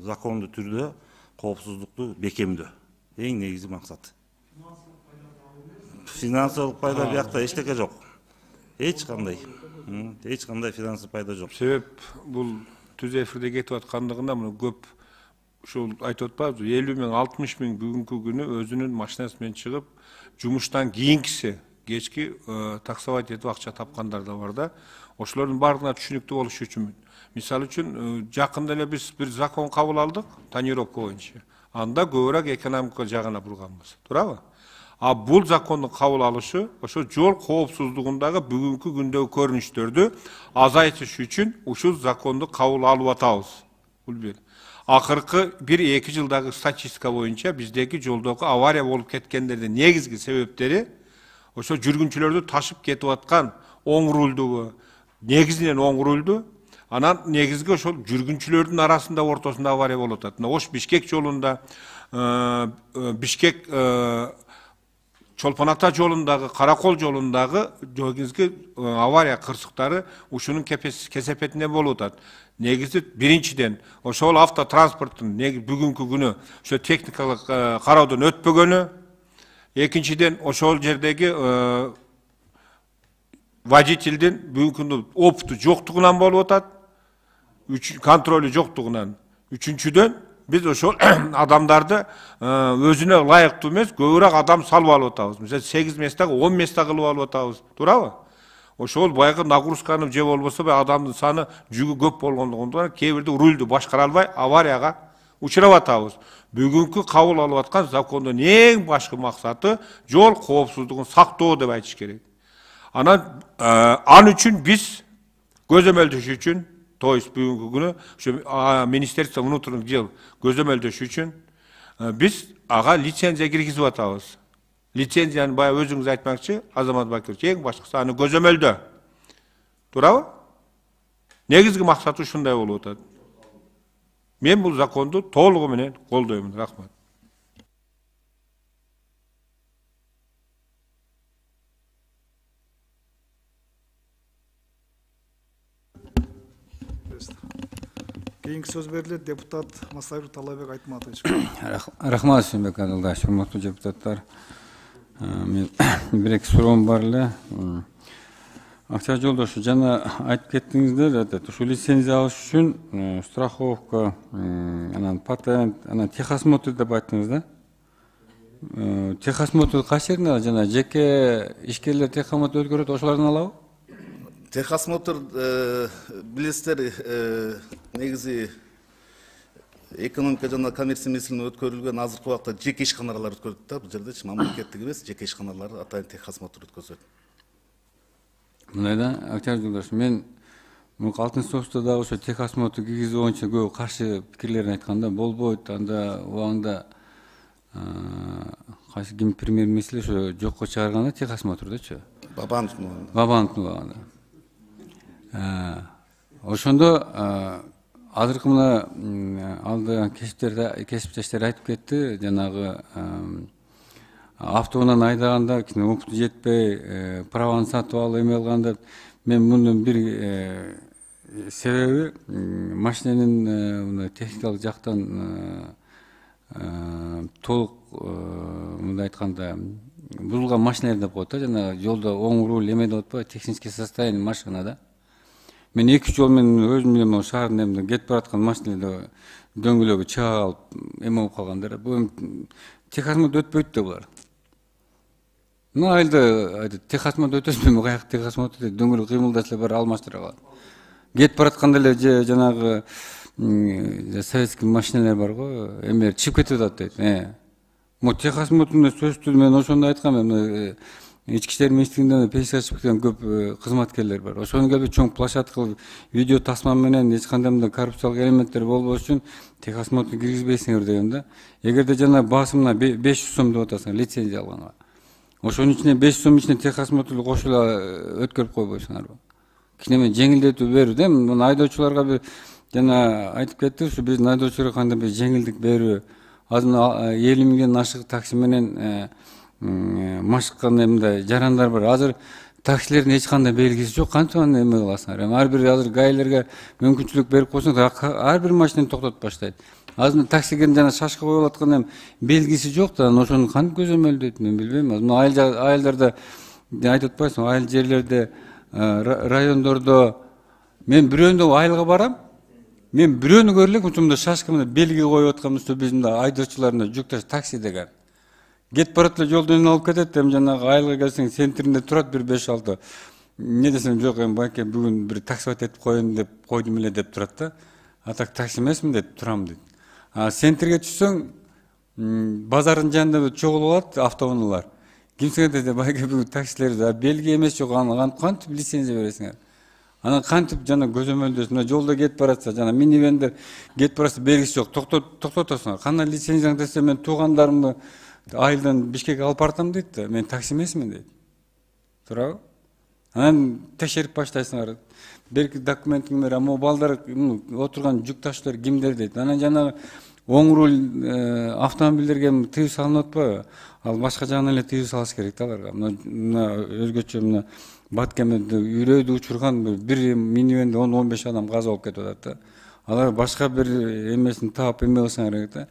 закондуу түрдө коопсуздукту бекемдөө эң негизги максат. Финансылык пайда биякта эчтеке жок. Эч кандай финансылык пайда жок. Себеп бул түз эфирде кетип аткандыгында мына көп ушул айтып атпайбызбы, 50 миң 60 миң бүгүнкү күнү өзүнүн машинасы менен чыгып, жумуштан кийинкиси кечки таксовать этип акча тапкандар да бар да. Ошолордун баардыгына түшүнүктүү болуш үчүн мисалы үчүн жакында эле биз бир закон кабыл алдык, тонировка боюнча. Анда көбүрөөк экономика жагына бурганбыз, туурабы? А бул закондун кабыл алышы ошо жол коопсуздугундагы бүгүнкү күндөгү көрүнүштөрдү азайтыш үчүн ушул законду кабыл алып атабыз. Бул бир. Акыркы 1-2 жылдагы статистика боюнча биздеги жолдогу авария болуп кеткендердин негизги себептери ошо жүргүнчүлөрдү ташып кетип аткан оң рулдугу, негизинен оң рулду, анан негизги ошол жүргүнчүлөрдүн арасында ортосунда авария болуп атат. Ош-Бишкек жолунда, Бишкек Чолпон Ата жолундагы, Каракол жолундагы негизги авария кырсыктары ушунун кесепетинде болуп атат. Негизи биринчиден ошол автотранспорттун бүгүнкү күнү ошо техникалык кароодон өтпөгөнү, экинчиден ошол жердеги водительдин бүгүнкү күндө опыту жоктугунан болуп атат. контролю жоктугунан. Үчүнчүдөн биз ошол адамдарды өзүнө ылайыктуу эмес, көбүрөөк адам салып алып атабыз. Мисалы 8 местага 10 места кылып алып атабыз. Туурабы? Ошол баягы нагрузканы же болбосо адамдын саны жүгү көп болгондугунан кээ бирде рульду башкара албай аварияга учурап атабыз. Бүгүнкү кабыл алып аткан закондун эң башкы максаты жол коопсуздугун сактоо деп айтыш керек. Анан ал үчүн биз көзөмөлдөш үчүн, то есть бүгүнкү күнү ошо Министерство внутренних дел көзөмөлдөш үчүн биз ага лицензия киргизип атабыз. Лицензияны бая өзүңүз айтмакчы, Азамат Бакирович, эң башкысы аны көзөмөлдө. Туурабы? Негизги максаты ушундай болуп атат. Мен бул законду толугу менен колдоймун. Рахмат. Кийинки сөз берилет депутат Масайбек Талайбек Айтматович. Рахмат, Сүйүнбек Адылдаевич, урматтуу депутаттар. Мен бир-эки суроом бар эле. Акча Жолдошов, жана айтып кеттиңиздер, ушу лицензия алыш үчүн страховка, анан патент, анан техосмотр деп айттыңыз да. Техосмотр кайсы жеринде, жана жеке ишкерлер техосмотр өткөрөт, ошолордон алабы? Техосмотр билесиздер, негизи экономика жана коммерция министрлигинин өткөрүлгөн азыркы убакта жеке ишканалар өткөрөт да, бул жерде мамлекеттик эмес, жеке ишканалар атайын техосмотр өткөзөт. Мындай да, Актер Жолдошов, мен алтын соғышта дагы ошо техосмотр киргизүү боюнча көп каршы пикирлерин айтканда, болбойт, анда убагында кайсы ким премьер-министр ошо жокко чыгарганда техосмотрдучу. Бабановдун убагында. Ошондо азыркы мына алды кесиптештер айтып кетти, жанагы автоунан айдаганда опыту жетпей, праваны сатып алып эме алганда, мен мунун бир себеби машиненин техникалык жактан толук мындай айтканда бузулган машиналар деп коет да, жана жолдо оң руль эме деп атпайбы, технический состояние машинада. Мен 2 жол менен өзүм менен шаардын эмне кетип бараткан машиналарда дөңгөлөгү чыга алып эме болуп калгандар. Бул техосмотр өтпөйт да булар. Мына айылда техосмотр өтөсүнбү, каяк техосмотр дейт, дөңгөлөк кыймылдаса эле бар алмаштыра калат. Кетип баратканда эле жанагы советский машиналар бар го, эмелер чыгып кетип атат дейт. Мо техосмотрдун сөзсүз мен ошондо айткам, Ички иштер министрлигинде пенсияга чыгып кеткен көп кызматкерлер бар. Ошону келип чоң площадка кылып, видео тасма менен эч кандай мындай коррупциялык элементтер болбош үчүн техосмотр киргизбейсиңер деген да. Эгерде жана басымына 500 сом деп атасың лицензия алганга. Ошонун ичине 500 сом ичине техосмотрду кошула өткөрүп койбойсуңарбы? Кичине жеңилдетүү берүү да, мына айдоочуларга бир жана айтып кетти, ушу биздин айдоочуларга кандай бир жеңилдик берүү. Азыр 50 миңден ашык такси менен машыккан мындай жарандар бар. Азыр таксилердин эч кандай белгиси жок, кантип аны эме кыласыңар? Ар бир азыр гаилерге мүмкүнчүлүк берип койсоңор, ар бир машинени токтотуп баштайт. Азыр таксиге жана шашка коюп аткан белгиси жок да, ошону кантип көзөмөлдөйт, мен билбейм. Мына айылдарда айтып атпайсыңбы, айыл жерлерде, райондордо мен бирөөндө айылга барам, мен бирөөнү көрө элек ушундай шашка менен белги коюп аткан биздин айдоочуларына жүк таш такси деген. Кетип барат эле жолдон алып кетет, жанагы айылга келсең центринде турат бир 5-6. Не десем жок, байке бүгүн бир таксовать этип коеюн деп койдум эле деп турат да. А так такси эмесмин деп турам дейт. Центрге түшсөң, базардын жанында чогулуп алат автоунаалар. Кимсиңер десе, байке бүгүн таксилер белги эмес жок, аны кантип лицензия бересиңер? Анан кантип жана көзөмөлдөсүң? Мына жолдо кетип баратса, жана минивендер кетип баратса белгиси жок, токтотосуңар. Кандай лицензияң десе, мен туугандарымды айылдан Бишкекке алып бартам дейт да, мен такси эмесмин дейт. Туурабы? Анан текшерип баштайсыңар. Берки документиңер, аммо балдар отурган жүк таштуулар кимдер дейт. Анан жана оң руль автомобилдерге тыюу салынып атпайбы? Ал башка жагынан эле тыюу салыш керек да аларга. Мына өзгөчө мына Баткемеде үрөйдү учурган бир минивенде 10-15 адам каза болуп кетип атат да. Алар башка бир эмесин таап эме кылсаңар керек да.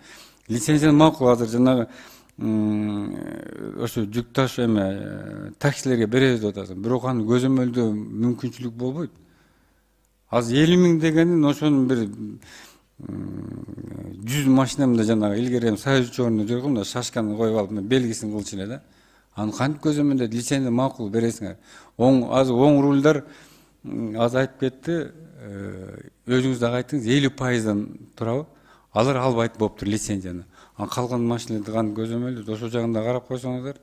Лицензия макул, азыр жанагы ошо жүк таш эме таксилерге беребиз деп атасың. Бирок аны көзөмөлдөө мүмкүнчүлүк болбойт. Азыр 50.000 дегенин ошонун бир 100 машинамда жанагы илгери эми союз учурунда жүргөм да шашканы коюп алып белгисин кылчу эле да. Аны кантип көзөмөлдөйт? Лицензия макул бересиңер. Азыр оң рульдар азыр айтып кетти, өзүңүз дагы айттыңыз 50%дан турабы? Алар албайт болуптур лицензияны. Калган машиналарды кантип көзөмөлдөйт? Ошол жагында карап койсоңуздар.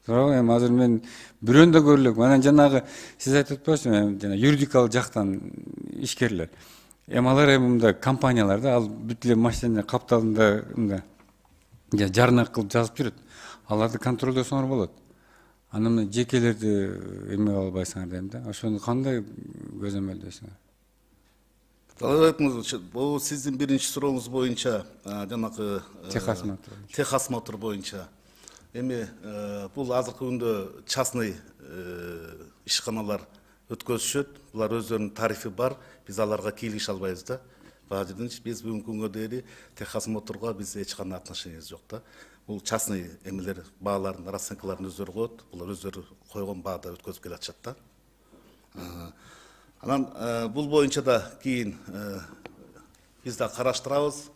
Туурабы? Эми азыр мен бирөөнү да көрө элек. Анан жанагы сиз айтып атпайсызбы? Жана юридикалык жактан ишкерлер. Алар мындай компаниялар да, ал бүт эле машина капталында мындай жарнак кылып жазып жүрөт. Аларды контролдосоңор болот. Анан мына жекелерди эме албайсыңар дейм да. Ошону кандай көзөмөлдөйсүңөр? Бул сиздин биринчи сурооңуз боюнча жанагы техосмотр боюнча. Эми бул азыркы күндө частный ишканалар өткөзүшөт. Булар өздөрүнүн тарифи бар. Биз аларга кийлигише албайбыз да. Бага жерден биз бүгүнкү күнгө дейин техосмотрго биз эч кандай отношениябыз жок да. Бул частный эмелер бааларын, расценкаларын өздөрү коет. Булар өздөрү койгон баада өткөзүп келатышат да. Анан бул боюнча да кийин биз да караштырабыз.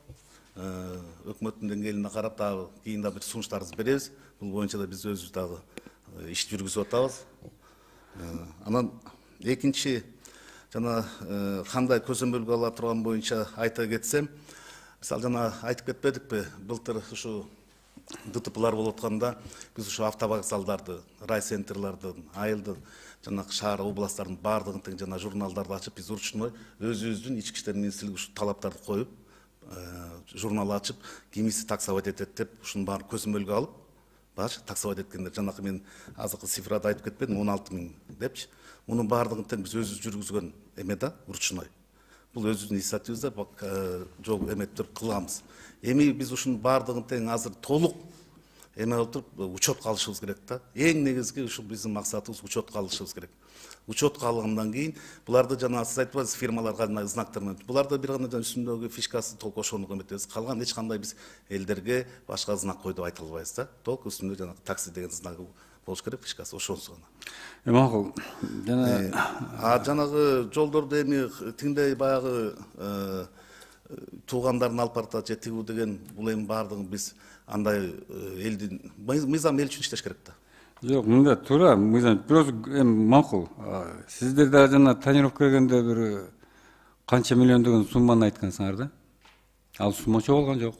Өкмөттүн деңгээлине карап дагы кийин да бир сунуштарыбызды беребиз. Бул боюнча да биз өзүбүз дагы иш жүргүзүп атабыз. Анан экинчи жана кандай көзөмөлгө ала турган боюнча айта кетсем, мисалы жана айтып кетпедикпи, былтыр ушу ДТПлар болуп атканда биз ушу автовокзалдарды, райцентрлардын, айылдын, жана шаар областтардын баардыгын тең жана журналдарды ачып биз ручной өзүбүздүн ички иштер министрлиги ушу талаптарды коюп, журнал ачып, кимиси таксовать этет деп ушунун баарын көзөмөлгө алып, башы таксовать эткендер жанакы мен азыркы цифрада айтып кетпедим, 16.000 депчи. Мунун баардыгын тең биз өзүбүз жүргүзгөн эме да, ручной. Бул өзүбүздүн инициативибизде жол эметип кылабыз. Эми биз ушунун баардыгын тең азыр толук эме отуруп учетко алышыбыз керек да. Эң негизги ушу биздин максатыбыз учетко алышыбыз керек. Учетко алгандан кийин буларды жана сиз айтпайсыз фирмаларга знактар менен. Буларды бир гана үстүндөгү фишкасы толук ошону эметебиз. Калган эч кандай биз элдерге башка знак кой деп айта албайбыз да. Толук үстүндө жана такси деген знагы болуш керек, фишкасы ошонусу гана. Макул. Жанагы жолдорду эми тиңдей баягы туугандарын алып баратат же тигүү деген бул эми баардыгын биз андай элдин мыйзам эл үчүн иштеш керек да. Жок, мында туура, мыйзам бирөөсү эми макул. Сиздер да жана тонировка келгенде бир канча миллион деген сумманы айткансыңар да. Ал сумма чогулган жок.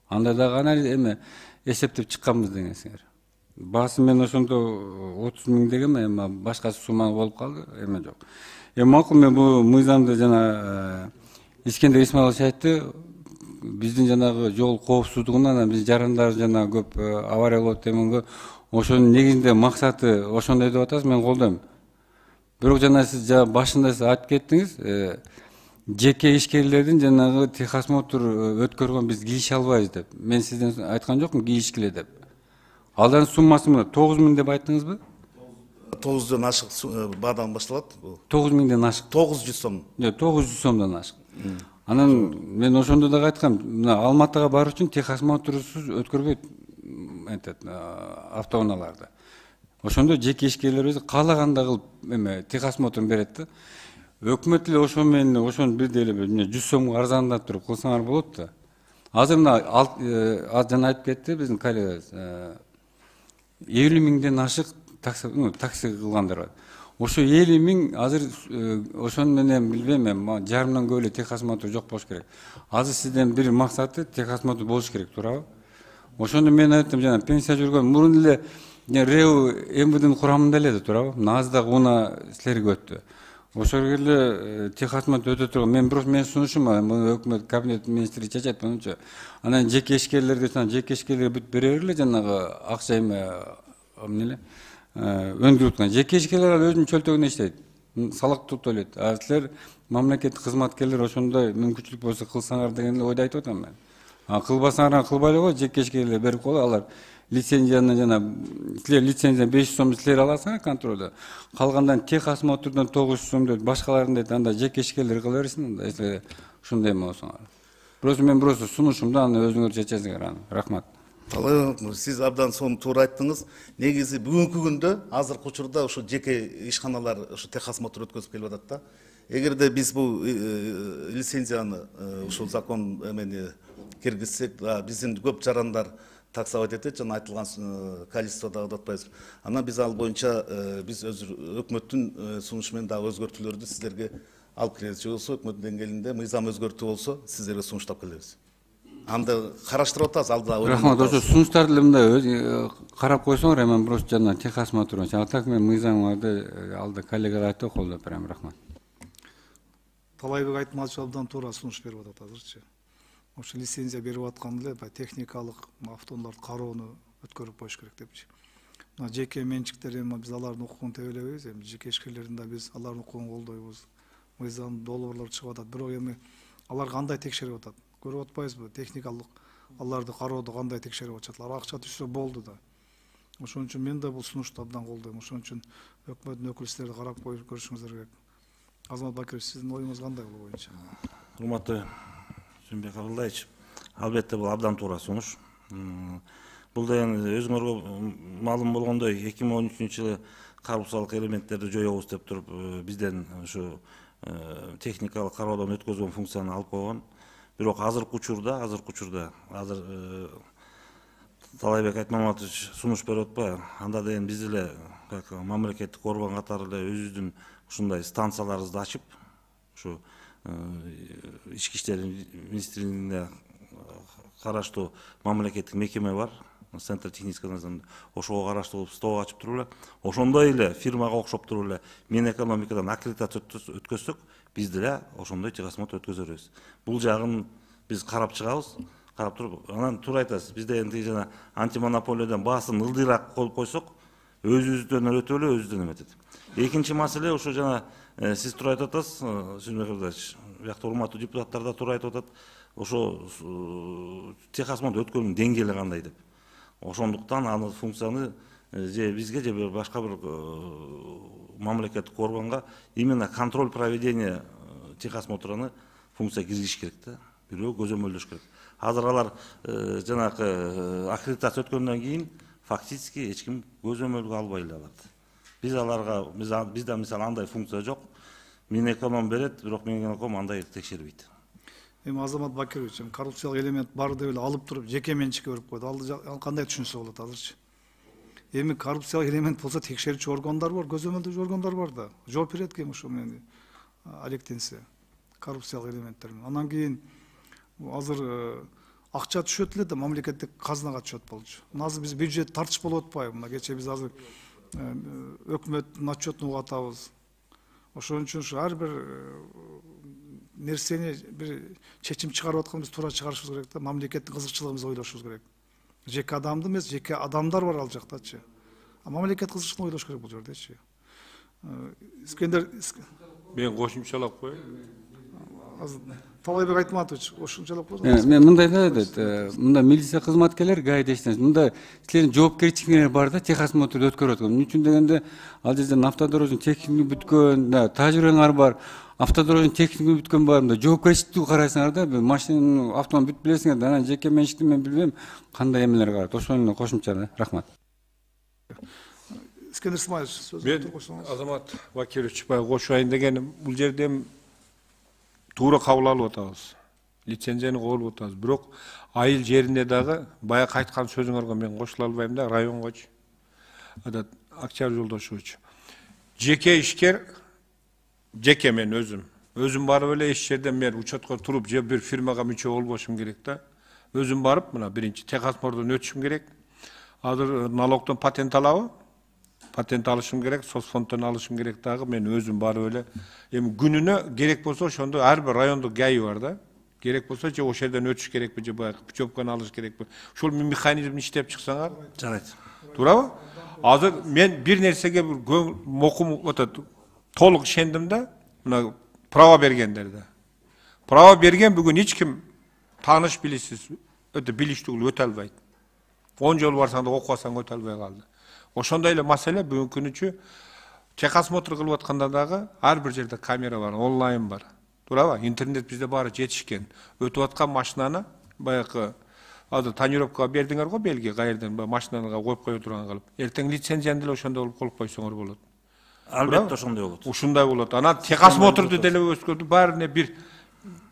Анда дагы анализ эми эсептеп чыкканбыз дегенсиңер. Баасы мен ошондо 30.000 деген эми башка сумма болуп калды, эме жок. Макул, мен бул мыйзамды жана Искендер Исмаилович айтты, биздин жанагы жол коопсуздугунан биз жарандар жана көп авария болот дегенге ошонун негизинде максаты ошондой деп атасыз, мен колдойм. Бирок жана сиз башында сиз айтып кеттиңиз, жеке ишкерлердин жанагы техосмотр өткөргөн биз кийише албайбыз деп. Мен сизден айткан жокмун кийишкиле деп. Алардын суммасы 9.000 деп айттыңызбы? 900дөн ашык баадан башталат. 9.000ден ашык. 900 сом. 900 сомдон ашык. Анан мен ошондо дагы айткам, мына Алматыга баруу үчүн техосмотрсуз өткөрбөйт автоунааларды. Ошондо жеке ишкерлер өзү каалагандай кылып эме техосмотрун берет да. Өкмөт эле ошо менен ошону бирдей эле 100 сомго арзандап туруп кылсаңар болот да. Азыр мына жана айтып кетти биздин коллегабыз 50.000ден ашык такси кылгандар бар. Ошо 50.000 азыр ошону менен билбейм, жарымдан көп эле техосмотр жок болуш керек. Азыр сизден бир максаты техосмотр болуш керек, туурабы? Ошондо мен айттым, жана пенсия жүргөн мурун эле РЭУ МВДнын курамында эле, туурабы? Азыр дагы уна силерге өттү. Ошол эле техосмотр өтө турган. Менин сунушум өкмөт кабинет министри чечет менче. Анан жеке ишкерлерге бүт бере бергиле, жанагы акча эмне өндүрүп аткан. Жеке ишкерлер өзүнүн чөлтөгүндө иштейт. Салык төлөйт. Силер мамлекеттик кызматкерлер ошондой мүмкүнчүлүк болсо кылсаңар деген ойду айтып атам мен. Кылбасаңар кылбай эле кой, жеке ишкерлер берип коелу, алар лицензияны жана силер лицензия 500 сом силер аласыңар контролдо. Калгандан техосмотрдон 900 сом дейт, башкаларын дейт, анда жеке ишкерлер кыла берсин анда, если ушундай болсоңар. Бирөөсү сунушумда аны өзүңөр чечесиңер аны. Рахмат. Сиз абдан сону туура айттыңыз. Негизи бүгүнкү күндө азыркы учурда ушу жеке ишканалар ушу техосмотр өткөзүп келип атат да. эгерде биз бул лицензияны ушул закон эмени киргизсек, биздин көп жарандар таксовать этет, жана айтылган количестводо атпайбыз. Анан биз ал боюнча биз өкмөттүн сунушу менен дагы өзгөртүүлөрдү сиздерге алып келебиз. Же болбосо өкмөттүн деңгээлинде мыйзам өзгөртүү болсо, сиздерге сунуштап келебиз. Анда караштырып атабыз, алда. Рахмат, ошо сунуштарды мындай карап койсоңор, эми просто жана техосмотр. А так мен мыйзамдарды алда коллегалар айтып колдоп берем. Рахмат. Талайбек айтматович абдан туура сунуш берип атат азырчы. Ошо лицензия берип аткан эле техникалык автоунааларды кароону өткөрүп коюш керек депчи. Мына жеке менчиктер эми биз алардын укугун тебелебейбиз, эми жеке ишкерлердин да биз алардын укугун колдойбуз. Мыйзам долбоорлор чыгып атат, бирок эми алар кандай текшерип атат? Көрүп атпайбызбы? Техникалык аларды кароодо кандай текшерип атышат? Акча түшсө болду да. Ошон үчүн мен да бул сунушту абдан колдойм. Ошон үчүн өкмөттүн өкүлдөрү карап көрүшүңүздөр керек. Азамат Бакирович, сиздин оюңуз кандай бул боюнча? Урматтуу Сүйүнбек Абылдаевич, албетте бул абдан туура сунуш. Бул да эми өзүңөргө маалым болгондой 2013-жылы коррупциялык элементтерди жоёбуз деп туруп бизден ушу техникалык кароодон өткөзгөн функцияны алып койгон. Бирок азыркы учурда азыр Талайбек Айтмаматович сунуш берип атпайбы? Анда деген биз эле как мамлекеттик орган катары эле өзүбүздүн ушундай станцияларыбызды ачып, ушу ички иштер министрлигине караштуу мамлекеттик мекеме бар, Центр технического надзора, ошого караштуу стол ачып туруп эле, ошондой эле фирмага окшоп туруп эле Минэкономикадан аккредитация өткөзсөк, биз деле ошондой техосмотр өткөзөрбүз. Бул жагын биз карап чыгабыз, карап туруп, анан туура айтасыз, бизде энди жана антимонополиядан баасын ылдыйраак коюп койсок, өзүбүздөн өтүп эле өзүбүздөн эметет. Экинчи маселе ошо жана сиз туура айтып атасыз, Сүйүнбек Абылдаевич, биякта урматтуу депутаттар да туура айтып атат, ошо техосмотр өткөрүүнүн деңгээли кандай деп. Ошондуктан аны функцияны же бизге же башка бир мамлекеттик органга именно контроль проведения техосмотрыны функция киргизиш керек да, бирөө көзөмөлдөш керек. Азыр алар жанагы аккредитация өткөндөн кийин фактически эч ким көзөмөлгө албай эле алат. Биз аларга бизде мисалы андай функция жок. Минэконом берет, бирок Минэконом андай текшербейт. Эми Азамат Бакирович, коррупциялык элемент бар деп эле алып туруп жеке менчикке берип койду. Ал кандай түшүнсө болот азырчы? Эми коррупциялык элемент болсо текшерүүчү органдар бар, көзөмөлдөөчү органдар бар да. Жооп берет ким ошо менен алектенсе коррупциялык элементтер менен. Анан кийин азыр акча түшөт эле да мамлекеттик казынага түшөт болчу. Азыр биз бюджет тартыш болуп атпайбы? Мына кечээ биз азыр өкмөттүн отчетун угуп атабыз. Ошон үчүн ушу ар бир нерсени бир чечим чыгарып атканда биз туура чыгарышыбыз керек да, мамлекеттин кызыкчылыгыбызды ойлошубуз керек. Жеке адамды эмес, жеке адамдар бар ал жактачы. А мамлекет кызыкчылыгын ойлош керек бул жердечи. Искендер мен кошумчалап коеюн. Талайбек Айтматович кошумчалап койсоңуз. Мен мындай да, мында милиция кызматкерлер гаидештен, мында силердин жоопкерчиликтер бар да, техосмотрду өткөрүп аткан. Эмне үчүн дегенде, ал жерден автодорождун техникасы бүткөн, да, тажрыйбаңар бар. Автодорождун техникасы бүткөн бар, мында жоопкерчиликти карайсыңар да, машинанын автомобиль бүтүп билесиңер да, анан жеке менчикти мен билбейм кандай эмелер карат. Ошону кошумча да. Рахмат. Искендер Исмаилович сөз койсоңуз. Азамат Бакирович баягы кошуайын дегеним, бул жерде туура кабыл алып атабыз. Лицензияны колуп атабыз. Бирок айыл жеринде дагы баягы айткан сөзүңөргө мен кошула албайм да, районгочу. Актер Жолдошович. Жеке ишкер, жеке мен өзүм барып эле иш жерден мен учетко туруп же бир фирмага мүчө болбошум керек да. Өзүм барып, мына биринчи техосмотрдон өтүшүм керек. Азыр налогдон патент алабы? Патент алышым керек, соцфонддон алышым керек дагы, мен өзүм барып эле. Эми күнүнө керек болсо ошондо ар бир райондук ГАИ бар да. Керек болсо же ошол жерден өтүш керекпи, же баягы путевканы алыш керекпи. Ошол механизмди иштеп чыксаңар, Жарайт. туурабы? Азыр мен бир нерсеге бир мокум атат, толук ишендим да, мына право бергендерде. Право берген бүгүн эч ким тааныш билишсиз, өтө билиштүү өтө албайт. 10 жол барсаң да окубасаң өтө албай калды. Ошондой эле маселе бүгүнкү күнүчү техосмотр кылып атканда дагы ар бир жерде камера бар, онлайн бар. Туурабы? Интернет бизде баары жетишкен. Өтүп аткан машинаны баягы азыр тонировкага бердиңер го белги, каерден машинага коюп кое турган кылып. Эртең лицензияны деле ошондой кылып коюп койсоңор болот. Албетте ошондой болот. Ушундай болот. Анан техосмотрду деле өскөрдү, баарына бир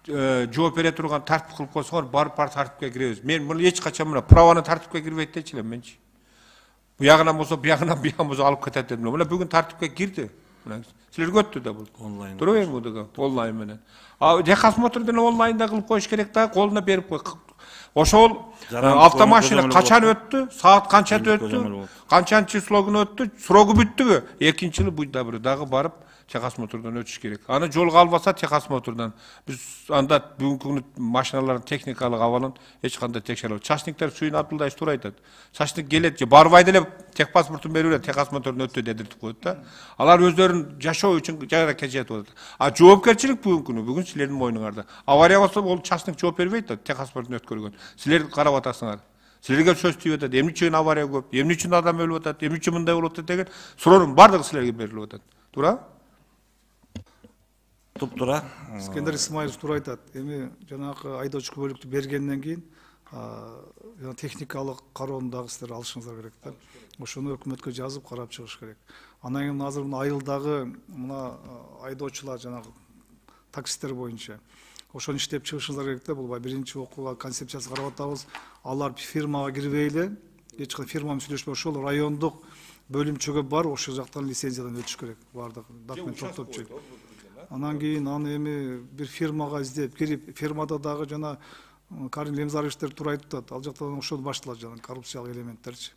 жооп бере турган тартип кылып койсоңор, барып тартипке киребиз. Мен муну эч качан мына праваны тартипке кирбейт дечи элем менчи. Буягынан болсо, буягынан болсо алып кетет дедим. Мына бүгүн тартипке кирди. Мына силерге өттү да бул. Онлайн. Туруп эми бул онлайн менен. Техосмотр деле онлайнда кылып коюш керек да, колуна берип кой. Ошол автомашина качан өттү, саат канчада өттү, канчанчы число күнү өттү, срогу бүттүбү? Экинчи жылы буйда бир дагы барып техосмотрдон өтүш керек. Аны жолго албаса техосмотрдан биз анда бүгүнкү күнү машиналардын техникалык абалын эч кандай текшере албайт. Чачниктер Сүйүн Абдулдаевич туура айтат. Чачник келет же барбай деле техпаспортун берип эле техосмотрдон өттү дедиртип коет да. Алар өздөрүн жашоо үчүн жаракет жетип атат. А жоопкерчилик бүгүнкү күнү бүгүн силердин мойнуңарда. Авария болсо ол чачник жооп бербейт да, техпаспортун өткөргөн. Силер карап атасыңар. Силерге сөз тийип атат. Эмне үчүн авария көп? Эмне үчүн адам өлүп атат? Эмне үчүн мындай болуп атат деген суроонун бардыгы силерге берилип атат. Туура? Туп-туура. Искендер Исмаилов туура айтат. Эми жанагы айдоочу күбөлүктү бергенден кийин техникалык кароону дагы силер алышыңыздар керек да. Ошону өкмөткө жазып карап чыгыш керек. Анан кийин азыр мына айылдагы мына айдоочулар жанагы таксисттер боюнча ошону иштеп чыгышыңыздар керек да. Бул биринчи окууга концепциясы карап атабыз. Алар фирмага кирбей эле, эч кандай фирма менен сүйлөшпөй ошол райондук бөлүмчөгө барып ошол жактан лицензиядан өтүш керек. Бардык документ топтоп чыгып. Анан кийин аны эми бир фирмага издеп кирип, фирмада дагы жана Карим Лемзаровичтер туура айтып атат. Ал жактан ошол башталат жана коррупциялык элементтерчи.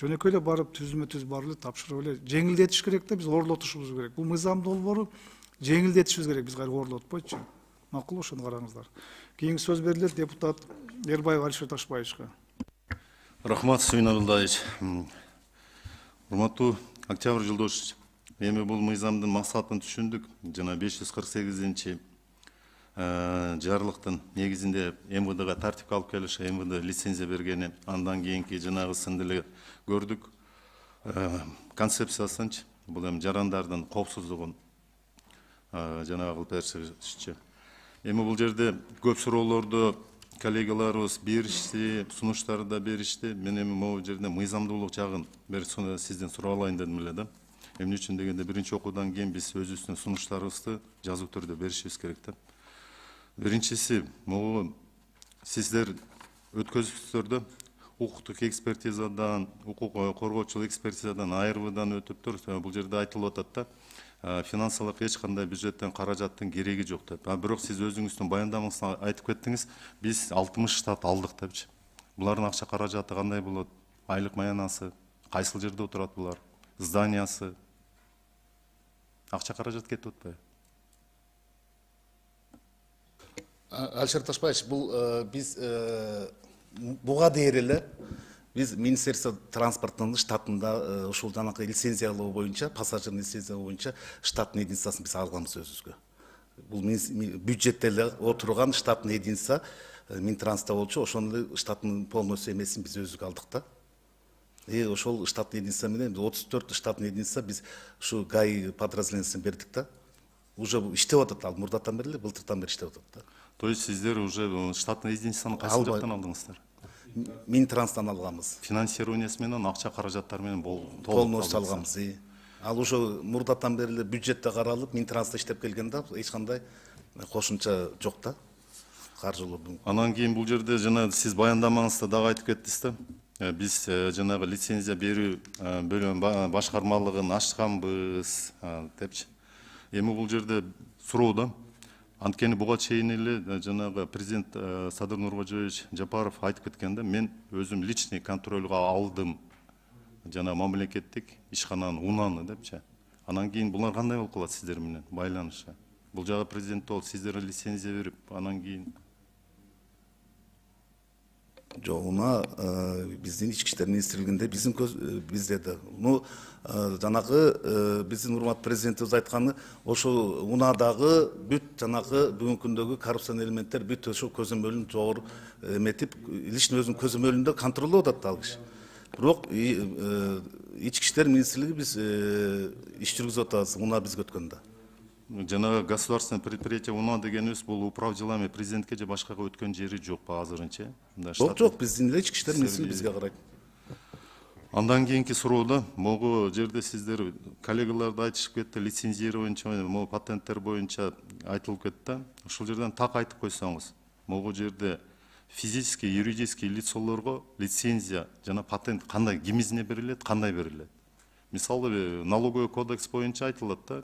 Жөнөкөй эле барып түзмө-түз барып эле тапшырып эле жеңилдетиш керек да, биз орлотушубуз керек. Бул мыйзам долбоору жеңилдетишибиз керек, биз кайра орлотпойчу. Макул, ошону караңыздар. Кийинки сөз берилет депутат Эрбаев Алишер Ташбаевичке. Рахмат, Сүйүн Абдулдаевич. Урматтуу Октябрь Жолдошевич, эми бул мыйзамдын максатын түшүндүк. Жана 548-чи жарлыктын негизинде МВДга тартипке алып келиш, МВД лицензия бергени, андан кийинки жанагысын деле көрдүк. Концепциясынчы бул эми жарандардын коопсуздугун жанагы кылып беришчи. Эми бул жерде көп суроолорду коллегаларыбыз беришти, сунуштарды да беришти. Мен эми могу жерде мыйзамдуулук жагын бир сизден сурап алайын дедим эле да. Эмне үчүн дегенде биринчи окуудан кийин биз өзүбүздүн сунуштарыбызды жазуу түрдө беришибиз керек да. Биринчиси, могу сиздер өткөзүпсүздөр да, укуктук экспертизадан, укук коргоочулук экспертизадан, АРВдан өтүптүр. Бул жерде айтылып атат да. Финансылык эч кандай бюджеттен каражаттын кереги жок деп. Бирок сиз өзүңүздүн баяндамаңызда айтып кеттиңиз, биз 60 штат алдык депчи. Булардын акча каражаты кандай болот? Айлык маянасы, кайсыл жерде отурат булар? Зданиясы. Акча каражат кетип атпайбы? Алишер Ташбаевич, бул биз буга дейер эле биз Министерство транспорттун штатында ушул жанакы лицензиялоо боюнча, пассажир лицензиялоо боюнча штаттын единицасын биз алганбыз өзүбүзгө. Бул бюджетте эле отурган штаттын единица Минтрансда болчу, ошону штаттын полностью эмесин биз өзүбүз алдык да. Ошол штаттын единица менен 34 штаттын единица биз ушу ГАИ подразделениясына бердик да. Уже иштеп атат, ал мурдатан бери эле, былтыртан бери иштеп атат да. То есть сиздер уже штаттын единицаны кайсы жактан алдыңыздар? Минтранстан алганбыз. Финансированиясы менен, акча каражаттары менен полностью алганбыз. Ал уже мурдатан бери эле бюджетте каралып, Минтранста иштеп келген да, эч кандай кошумча жок да. Каржылуу. Анан кийин бул жерде жана сиз баяндамаңызда дагы айтып кеттиңиз да. Биз жанагы лицензия берүү бөлүм башкармалыгын ачканбыз депчи. Эми бул жерде суроо да. Анткени буга чейин эле жанагы президент Садыр Нуркожоевич Жапаров айтып кеткен да, мен өзүм личный контролга алдым жана мамлекеттик ишкананын унаны депчи. Анан кийин булар кандай болуп калат сиздер менен байланышы? Бул жагы президент болуп сиздер лицензия берип, анан кийин Жок, уна биздин ички иштер министрлигинде биздин бизде да. Жанагы биздин урматтуу президентибиз айтканы, ошол унадагы бүт жанагы бүгүнкү күндөгү коррупциялык элементтер бүт ошол көзөмөлүн жогору эметип, личный өзүнүн көзөмөлүндө контролдоп атат ал киши. Бирок ички иштер министрлиги биз иш жүргүзүп атабыз уна бизге өткөндө. Жанагы государственное предприятие УНА дегенибиз бул управ делами президентке же башкага өткөн жери жок азырынча. Жок, биздин эле ички иштер министрлиги бизге карайт. Андан кийинки суроода могу жерде сиздер коллегалар да айтышып кетти, лицензирование, могу патенттер боюнча айтылып кетти. Ушул жерден так айтып койсоңуз, могу жерде физический, юридический лицолорго лицензия жана патент кандай, кимизине берилет, кандай берилет? Мисалы, налоговый кодекс боюнча айтылат да,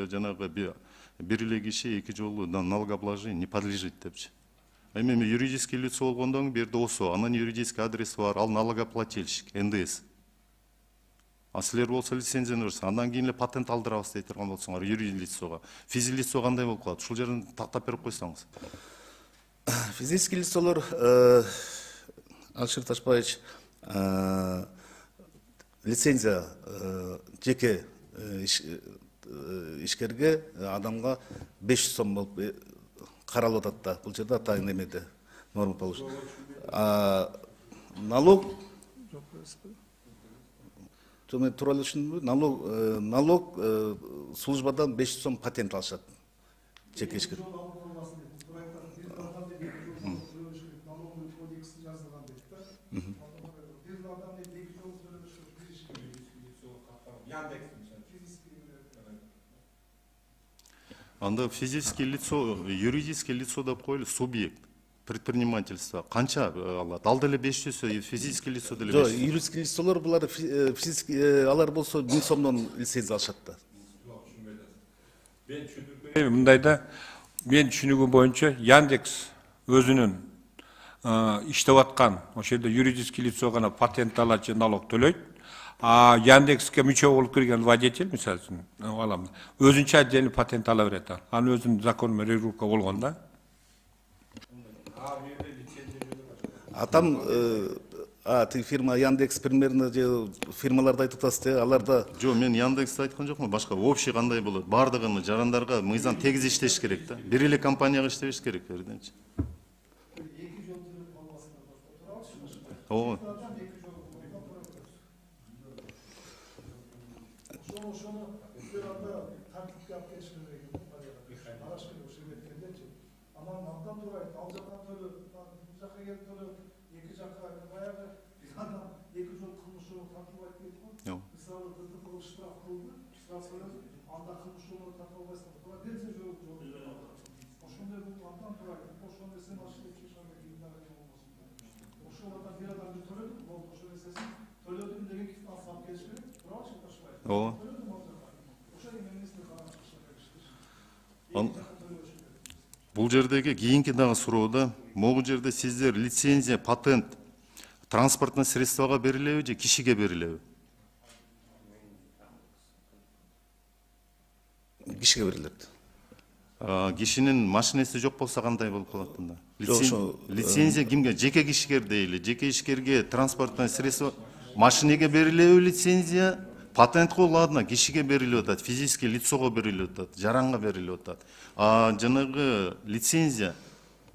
жанагы бир эле киши эки жолу налогообложение не подлежит депчи. Эми юридический лицо болгондон кийин берде ОСО, анан юридический адрес бар, ал налогоплательщик, НДС. А силер болсо лицензияны берсе, андан кийин эле патент алдырабыз дей турган болсоңор юридический лицого. Физлицо кандай болуп калат? Ушул жерин тактап берип койсоңуз. Физический лицолор, Алишер Ташпаевич, лицензия жеке ишкерге адамга 500 сом болуп каралып атат да. Бул жерде атайын эмеде норма положено. Налог мен туура эле түшүндүмбү? Налог службадан 500 сом патент алышат жеке ишкер. Анда физический лицо, юридический лицо деп коелу, субъект предпринимательства канча алат? Ал деле 500, физический лицо деле 500. Жок, юридический лицолор булар физический алар болсо 1000 сомдон лицензия алышат да. Мындайда мен түшүнүгүм боюнча Яндекс өзүнүн иштеп аткан ошол жерде юридический лицо гана патент алат же налог төлөйт. А Яндекске мүчө болуп кирген водитель, мисалы үчүн, алам, өзүнчө отдельный патент ала берет. Аны өзүнүн закон менен регулировка болгон да. А там тиги фирма Яндекс примерно же фирмаларды айтып атасыз, аларда Жок, мен Яндексти айткан жокмун, башка общий кандай болот? Бардыгын жарандарга мыйзам тегиз иштеш керек да. Бир эле компанияга иштебеш керек, берденчи. Ооба. Бул жердеги кийинки дагы суроода, могу жерде сиздер лицензия, патент транспортный средствага берилеби же кишиге берилеби? кишиге берилет. Кишинин машинеси жок болсо кандай болуп калат анда? Лицензия кимге? Жеке кишиге дейли, жеке ишкерге транспортный средство машинеге берилеби лицензия? Патентке ладно, кишиге берилип атат, физический лицого берилип атат, жаранга берилип атат. Жанагы лицензия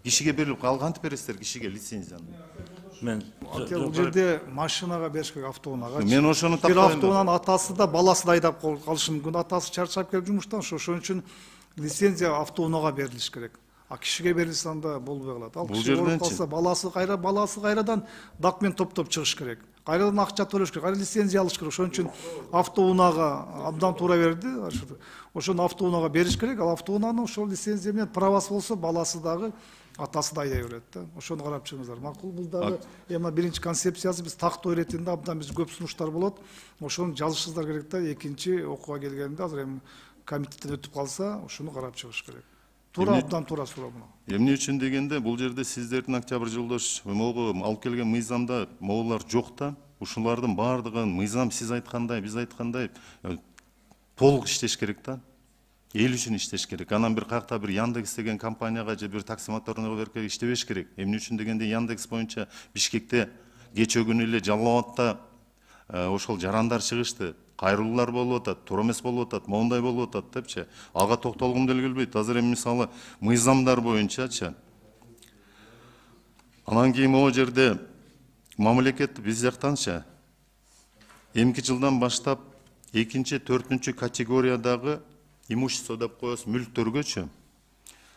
кишиге берилип, ал кантип бересиздер кишиге лицензияны? Бул жерде машинага бериш керек, автоунаага. Мен ошону бир автоунанын атасы да баласы да айдап калышы мүмкүн. Атасы чарчап келип жумуштан, ошон үчүн лицензия автоунаага берилиш керек. А кишиге берилсе анда болбой калат. Ал киши ооруп калса, баласы кайрадан документ топтоп чыгыш керек. Кайрадан акча төлөш керек, кайра лицензия алыш керек. Ошон үчүн автоунаага абдан туура берди. Ошону автоунаага бериш керек. Ал автоунанын ошол лицензия менен правасы болсо, баласы дагы атасы да айдай берет да. Ошону карап чыгыңыздар. Макул, бул дагы эми биринчи концепциясы биз тактоо иретинде абдан биз көп сунуштар болот. Ошону жазышыңыздар керек да. Экинчи окууга келгенде азыр эми комитеттен өтүп калса, ошону карап чыгыш керек. Туура, абдан туура суроо мына. Эмне үчүн дегенде, бул жерде сиздердин Октябрь Жолдош могу алып келген мыйзамда могулар жок да. Ушулардын бардыгын мыйзам сиз айткандай, биз айткандай толук иштеш керек да. Эл үчүн иштеш керек. Анан бир кайякта бир Яндекс деген компанияга же бир такси моторунга берке иштебеш керек. Эмне үчүн дегенде Яндекс боюнча Бишкекте кечээ күнү эле Жалал Абадта ошол жарандар чыгышты. Кайрылуулар болуп атат, туура эмес болуп атат, моундай болуп атат депчи. Ага токтолгум деле келбейт. Азыр эми мисалы мыйзамдар боюнчачы. Анан кийин могу жерде мамлекет биз жактанчы эмки жылдан баштап 2-4 категориядагы имущество деп коебуз, мүлктөргөчү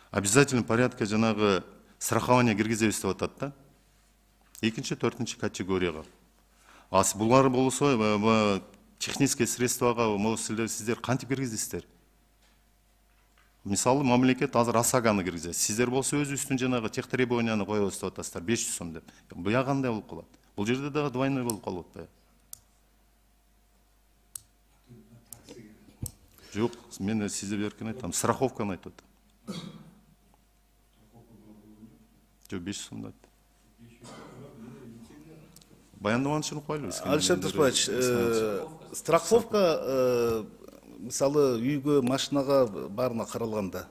обязательный порядке жанагы страхование киргизебиз деп атат да. 2-4 категорияга. Булар болсо технический средствага сиздер кантип киргиздиңиздер? Мисалы, мамлекет азыр ОСАГОны киргизет. Сиздер болсо өзүбүздүн жанагы тех требованияны коебуз деп атасыздар, 500 сом деп. Буга кандай болуп калат? Бул жерде дагы двойной болуп калып атпайбы? Жок, мен сизге беркен айтам, страховканы айтып атам. Жок, 500 сом деп. Баяндаманы чыгып коелу. Алишер Ташбаевич, страховка мисалы үйгө, машинага баарына каралганда.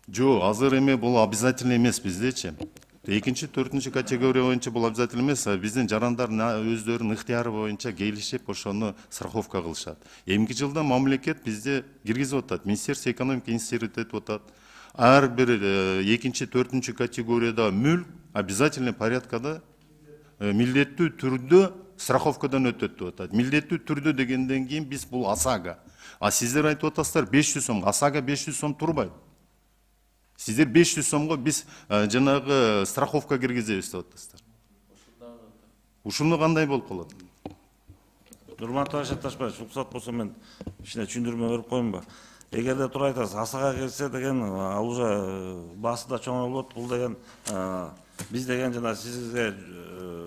Жок, азыр эме бул обязательно эмес биздечи. Экинчи, төртүнчү категория боюнча бул обязательно эмес, биздин жарандар өздөрүнүн ыктыяры боюнча келишип ошону страховка кылышат. Эмки жылда мамлекет бизде киргизип атат, Министерство экономики институту этип атат. Ар бир экинчи, төртүнчү категорияда мүлк обязательный порядкада милдеттүү түрдө страховкадан өтөт деп атат. Милдеттүү түрдө дегенден кийин биз бул ОСАГО. А сиздер айтып атасыздар 500 сом, ОСАГО 500 сом турбайт. Сиздер 500 сомго биз жанагы страховка киргизебиз деп атасыздар. Ушуну кандай болуп калат? Урматтуу Алишер Ташбаевич, уруксат болсо мен кичине түшүндүрмө берип коеюнбу? Эгерде туура айтасыз, ОСАГО келсе деген ал уже баасы да чоңойлот. Бул деген биз деген жана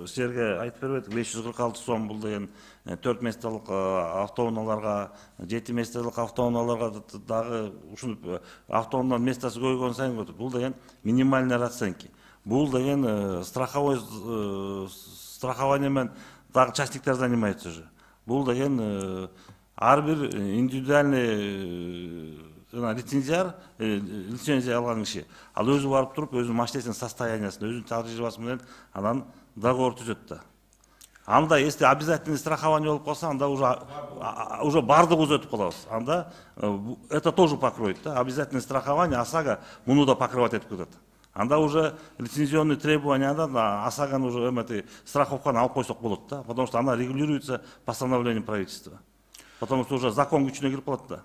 силерге айтып бербедик, 546 сом бул деген 4 меселик автоунааларга, 7 меселик автоунааларга дагы ушул автоунанын местасы көбөйгөн сайын көтөрүп. Бул деген минимальный расценки. Бул деген страхование менен дагы частниктер занимается уже. Бул деген ар бир индивидуальный лицензия алган киши. Ал өзү барып туруп, өзүнүн машинесинин состояниясын, өзүнүн тажрыйбасы менен анан договор түзөт да. Анда если обязательный страхование болуп калса, анда уже бардыгыбыз өтүп калабыз. Анда это тоже покроет, да. Обязательное страхование ОСАГО муну да покрывать этип кетет. Анда уже лицензионный требованиядан ОСАГОны уже страховканы алып койсок болот да, потому что она регулируется постановлением правительства. Потому что уже закон күчүнө кирип калат да.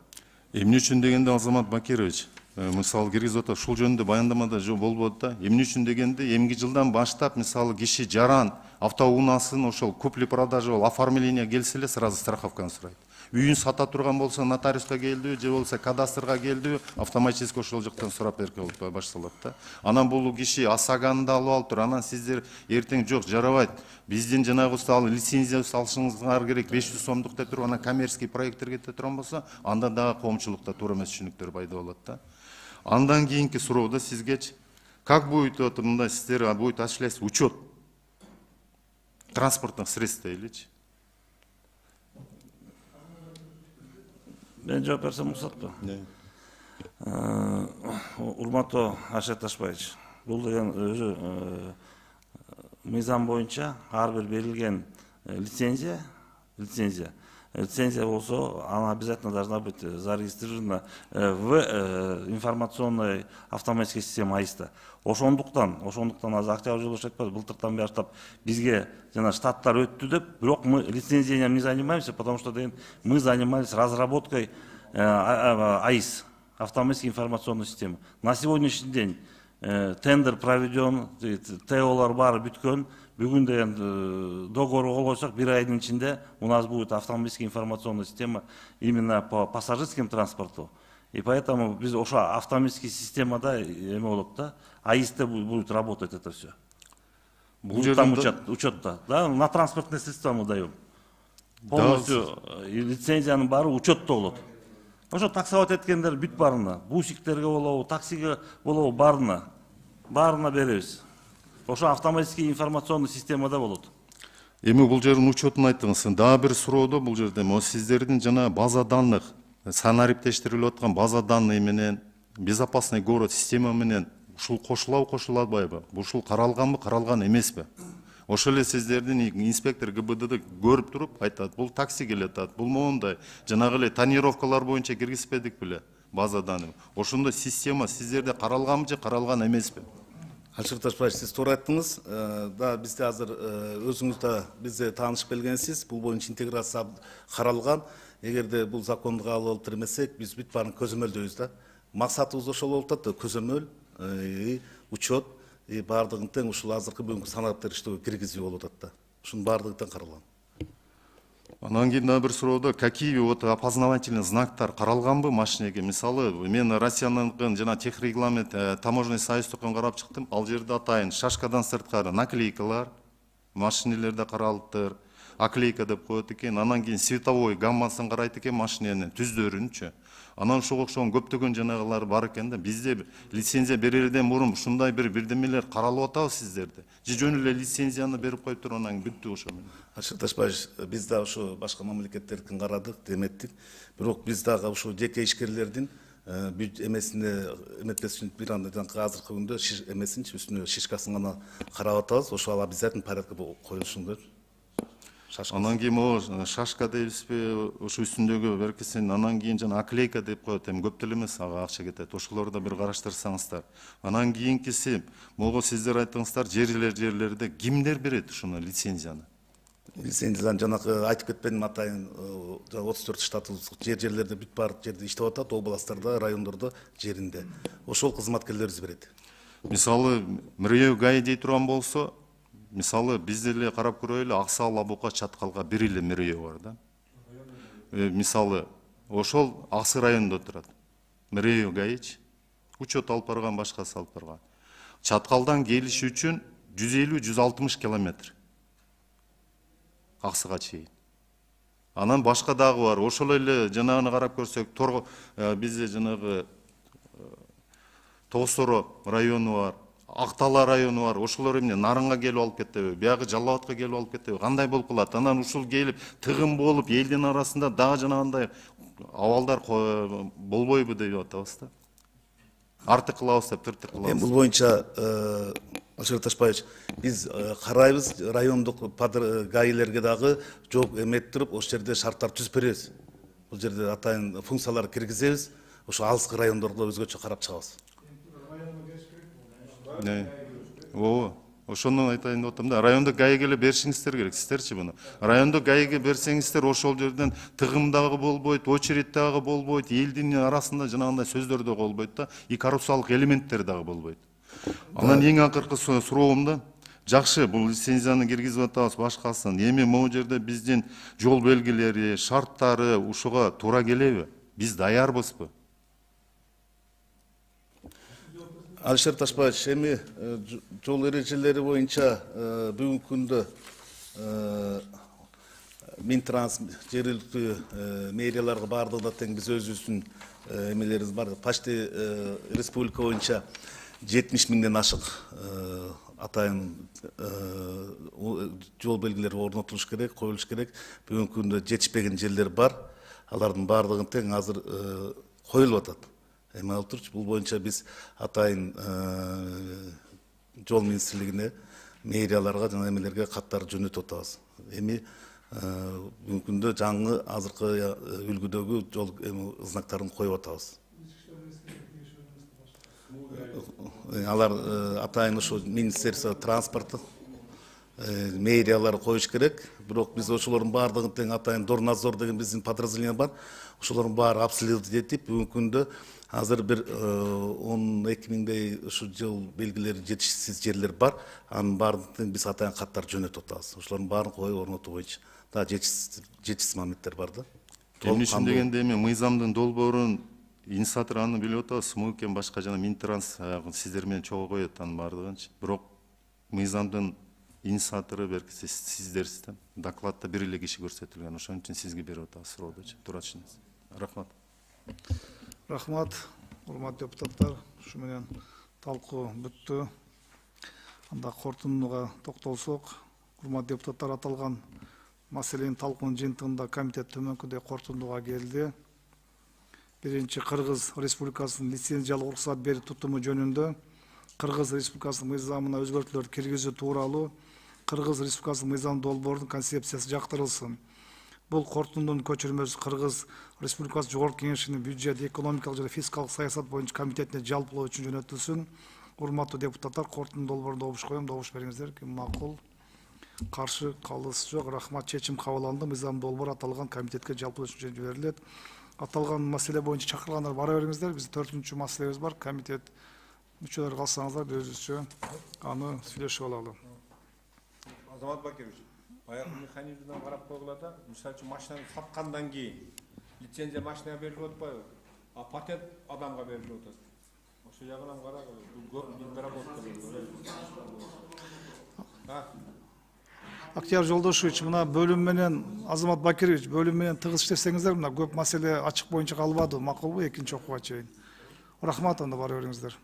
Эмне үчүн дегенде Азамат Бакирович, мисалы киргизип атат, ушул жөнүндө баяндамада болбойт да. Эмне үчүн дегенде, эмки жылдан баштап мисалы киши жаран автоунаасын ошол купли-продажа оформление келсе эле сразу страховканы сурайт. Үйүн сата турган болсо нотариуска келдиби, же болбосо кадастрга келдиби, автоматически ошол жактан сурап берип башталат да. Анан бул киши ОСАГОны да алып алыптыр. Анан сиздер эртең жок жарабайт. Биздин жанагыбызды алып лицензия алышыңыздар керек 500 сомдук деп туруп, анан коммерческий проекттер кете турган болсо, анда дагы коомчулукта туура эмес түшүнүктөр пайда болот да. Андан кийинки суроодо сизгечи как будет мындай сиздер будет осуществляться учет транспортных средств дейличи? Мен жооп берсем уруксатпы? Урматтуу Алишер Ташбаевич, бул деген өзү мыйзам боюнча ар бир берилген лицензия болсо, она обязательно должна быть зарегистрирована в информационной автоматической системе АИСта. Ошондуктан азыр Октябрь Жолдошев айтпады, былтыртан баштап бизге жана штаттар өттү деп, бирок мы лицензиянием не занимаемся, потому что мы занимались разработкой АИС, автоматической информационной системы. На сегодняшний день тендер проведен, ТОлар баары бүткөн. Бүгүн деген договорга кол койсок, бир айдын ичинде у нас будет автоматическая информационная система именно по пассажирским транспорту. И поэтому биз ошо автоматический системада эме болот да, АИСте будет работать это все. Там учетта, да, на транспортные средства мы даем. Полностью лицензиянын баары учетто болот. Ошо таксовать эткендер бүт баарына, бусиктерге болобу, таксиге болобу баарына беребиз. Ошо автоматический информационный системада болот. Эми бул жердин учетун айттыңыз. Дагы бир суроодо бул жерде сиздердин жана база данных, санариптештирилип аткан база данные менен безопасный город система менен ушул кошулабы, кошулбайбы? Ушул каралганбы, каралган эмеспи? Ошол эле сиздердин инспектор ГБДД көрүп туруп айтат, бул такси келатат, бул моундай, жанагы эле тонировкалар боюнча киргизбедик беле база данный. Ошондо система сиздерде каралганбы же каралган эмеспи? Алишер Ташбаевич, сиз туура айттыңыз. Да, бизде азыр өзүңүз да бизде таанышып келгенсиз. Бул боюнча интеграция каралган. Эгерде бул закондук алып отурмесек, биз бүт баарын көзөмөлдөйбүз да. Максатыбыз ошол болуп атат, көзөмөл, учет, баардыгын тең ушул азыркы бүгүнкү санариптер иштөө киргизүү болуп атат да. Ушунун баардыгы тең каралган. Анан кийин дагы бир суроодо какие вот опознавательный знактар каралганбы машинеге? Мисалы, мен Россиянын жана техрегламент таможенный союздукун карап чыктым. Ал жерде атайын шашкадан сырткары наклейкалар, машинелерде каралыптыр. Оклейка деп коет экен. Анан кийин световой гаммасын карайт экен машиненин түздөрүнчү. Анан ошого окшогон көптөгөн жанагылар бар экен да. Бизде лицензия берерден мурун ушундай бирдемелер каралып атабы сиздерде? Же жөн эле лицензияны берип коюп туруп анан бүттү ошо менен? Ашык Ташбаевич, биз да ошо башка мамлекеттердикин карадык, деметтик. Бирок биз дагы ошо жеке ишкерлердин эмесине эметпес үчүн бир анда азыркы күндө эмесинчи үстүнө шишкасын гана карап атабыз. Ошо обязательный порядка коюлушун. Анан кийин могу шашка дейбизби, ошо үстүндөгү беркесин, анан кийин жана оклейка деп коет, эми көп деле эмес, ага акча кетет. Ошолорду да бир караштырсаңыздар. Анан кийинкиси, могу сиздер айттыңыздар, жерлерде кимдер берет ушуну лицензияны? Лицензияны жанагы айтып кетпедим, атайын 34 штатыбыз жерлерде бүт бар жерде иштеп атат, областтарда, райондордо, жеринде. Ошол кызматкерлерибиз берет. Мисалы, Мирөй ГАИ дей турган болсо, мисалы, биз деле карап көрөлү, Аксаал, Абука, Чаткалга бир эле Мирөй бар да. Мисалы, ошол Аксы районунда турат. Мирөй ГАИчи учет алып барган, башкасы алып барган. Чаткалдан келиш үчүн 150-160 километр. Аксыга чейин. Анан башка дагы бар. Ошол эле жанагыны карап көрсөк, бизде жанагы Тоосоро району бар, Актала району бар. Ошолор эмне Нарынга келип алып кетеби, биягы Жалал Абадка келип алып кетеби? Кандай болуп калат? Анан ушул келип тыгын болуп, элдин арасында дагы жанагындай абалдар болбойбу деп атабыз да. Артык кылабыз деп, тыртык кылабыз. Бул боюнча Ашык Ташбаевич, биз карайбыз, райондук ГАИлерге дагы жооп эметип туруп, ошол жерде шарттар түзүп беребиз. Бул жерде атайын функциялар киргизебиз, ошо алыскы райондордо өзгөчө карап чыгабыз. Ооба, ошону айтайын деп атам да. Райондук ГАИге эле беришиңиздер керек, сиздерчи буну. Райондук ГАИге берсеңиздер, ошол жерден тыгым дагы болбойт, очередь дагы болбойт, элдин арасында жанагындай сөздөр да болбойт да, и коррупциялык элементтер дагы болбойт. Анан эң акыркы суроом да, жакшы, бул лицензияны киргизип атабыз, башкасын. Эми могу жерде биздин жол белгилери, шарттары ушуга туура келеби? Биз даярбызбы? Алишер Ташбаевич, эми жол эрежелери боюнча бүгүнкү күндө Минтранс жергиликтүү мэрияларга баардыгына тең биз өзүбүздүн эмелерибиз бар. Почти республика боюнча 70 миңден ашык атайын жол белгилери орнотулуш керек, коюлуш керек. Бүгүнкү күндө жетишпеген жерлер бар. Алардын баардыгын тең азыр коюлуп атат. Эми алып турчу, бул боюнча биз атайын жол министрлигине, мэрияларга жана эмелерге каттар жөнөтүп атабыз. Эми бүгүнкү күндө жаңы азыркы үлгүдөгү жол знактарын коюп атабыз. Алар атайын ошо Министерство транспорта, мэриялар коюш керек. Бирок биз ошолордун баардыгын тең атайын Дорнадзор деген биздин подразделение бар. Ошолордун баары обследовать этип, бүгүнкү күндө азыр бир 12 миңдей ушу жол белгилери жетишсиз жерлер бар. Анын баардыгын биз атайын каттар жөнөтүп атабыз. Ошолордун баарын коюп орнотуу боюнча да жетишсиз моменттер бар да. Эмне үчүн дегенде эми мыйзамдын долбоорун инициатор аны билип атабыз, МУКем башка жана Минтранс сиздер менен чогуу коет анын баардыгынчы. Бирок мыйзамдын инициатору беркиси сиздерсиз да. Докладта бир эле киши көрсөтүлгөн. Ошон үчүн сизге берип атабыз суроодочу. Туура түшүнөсүз. Рахмат. Рахмат, урматтуу депутаттар. Ушу менен талкуу бүттү. Анда корутундуга токтолсок, урматтуу депутаттар, аталган маселенин талкуунун жыйынтыгында комитет төмөнкүдөй корутундуга келди. Биринчи, Кыргыз Республикасынын лицензиялык уруксат берүү тутуму жөнүндө Кыргыз Республикасынын мыйзамына өзгөртүүлөр киргизүү тууралуу Кыргыз Республикасынын мыйзам долбоорунун концепциясы жактырылсын. Бул корутундунун көчүрмөсү Кыргыз Республикасы Жогорку Кеңешинин бюджет, экономикалык жана фискалдык саясат боюнча комитетине жалпылоо үчүн жөнөтүлсүн. Урматтуу депутаттар, корутундун долбоорун добуш коем, добуш бериңиздер. Ким макул? Каршы, калыс жок. Рахмат, чечим кабыл алынды. Мыйзам долбоор аталган комитетке жалпылоо үчүн жиберилет. Аталган маселе боюнча чакыргандар бара бериңиздер. Биздин 4-чү маселебиз бар. Комитет мүчөлөрү калсаңыздар өзүбүзчө аны сүйлөшүп алалы. Азамат Бакирович. баягы механизмден карап койгула да, мисалы үчүн машинаны саткандан кийин лицензия машинага берилип атпайбы, а патент адамга берилип атат. Ошо жагынан карап, бул көп недоработка. Актияр Жолдошевич, мына бөлүм менен Азамат Бакирович, бөлүм менен тыгыз иштесеңиздер, мына көп маселе ачык боюнча калбады, макулбу экинчи окууга чейин. Рахмат, анда бара бериңиздер.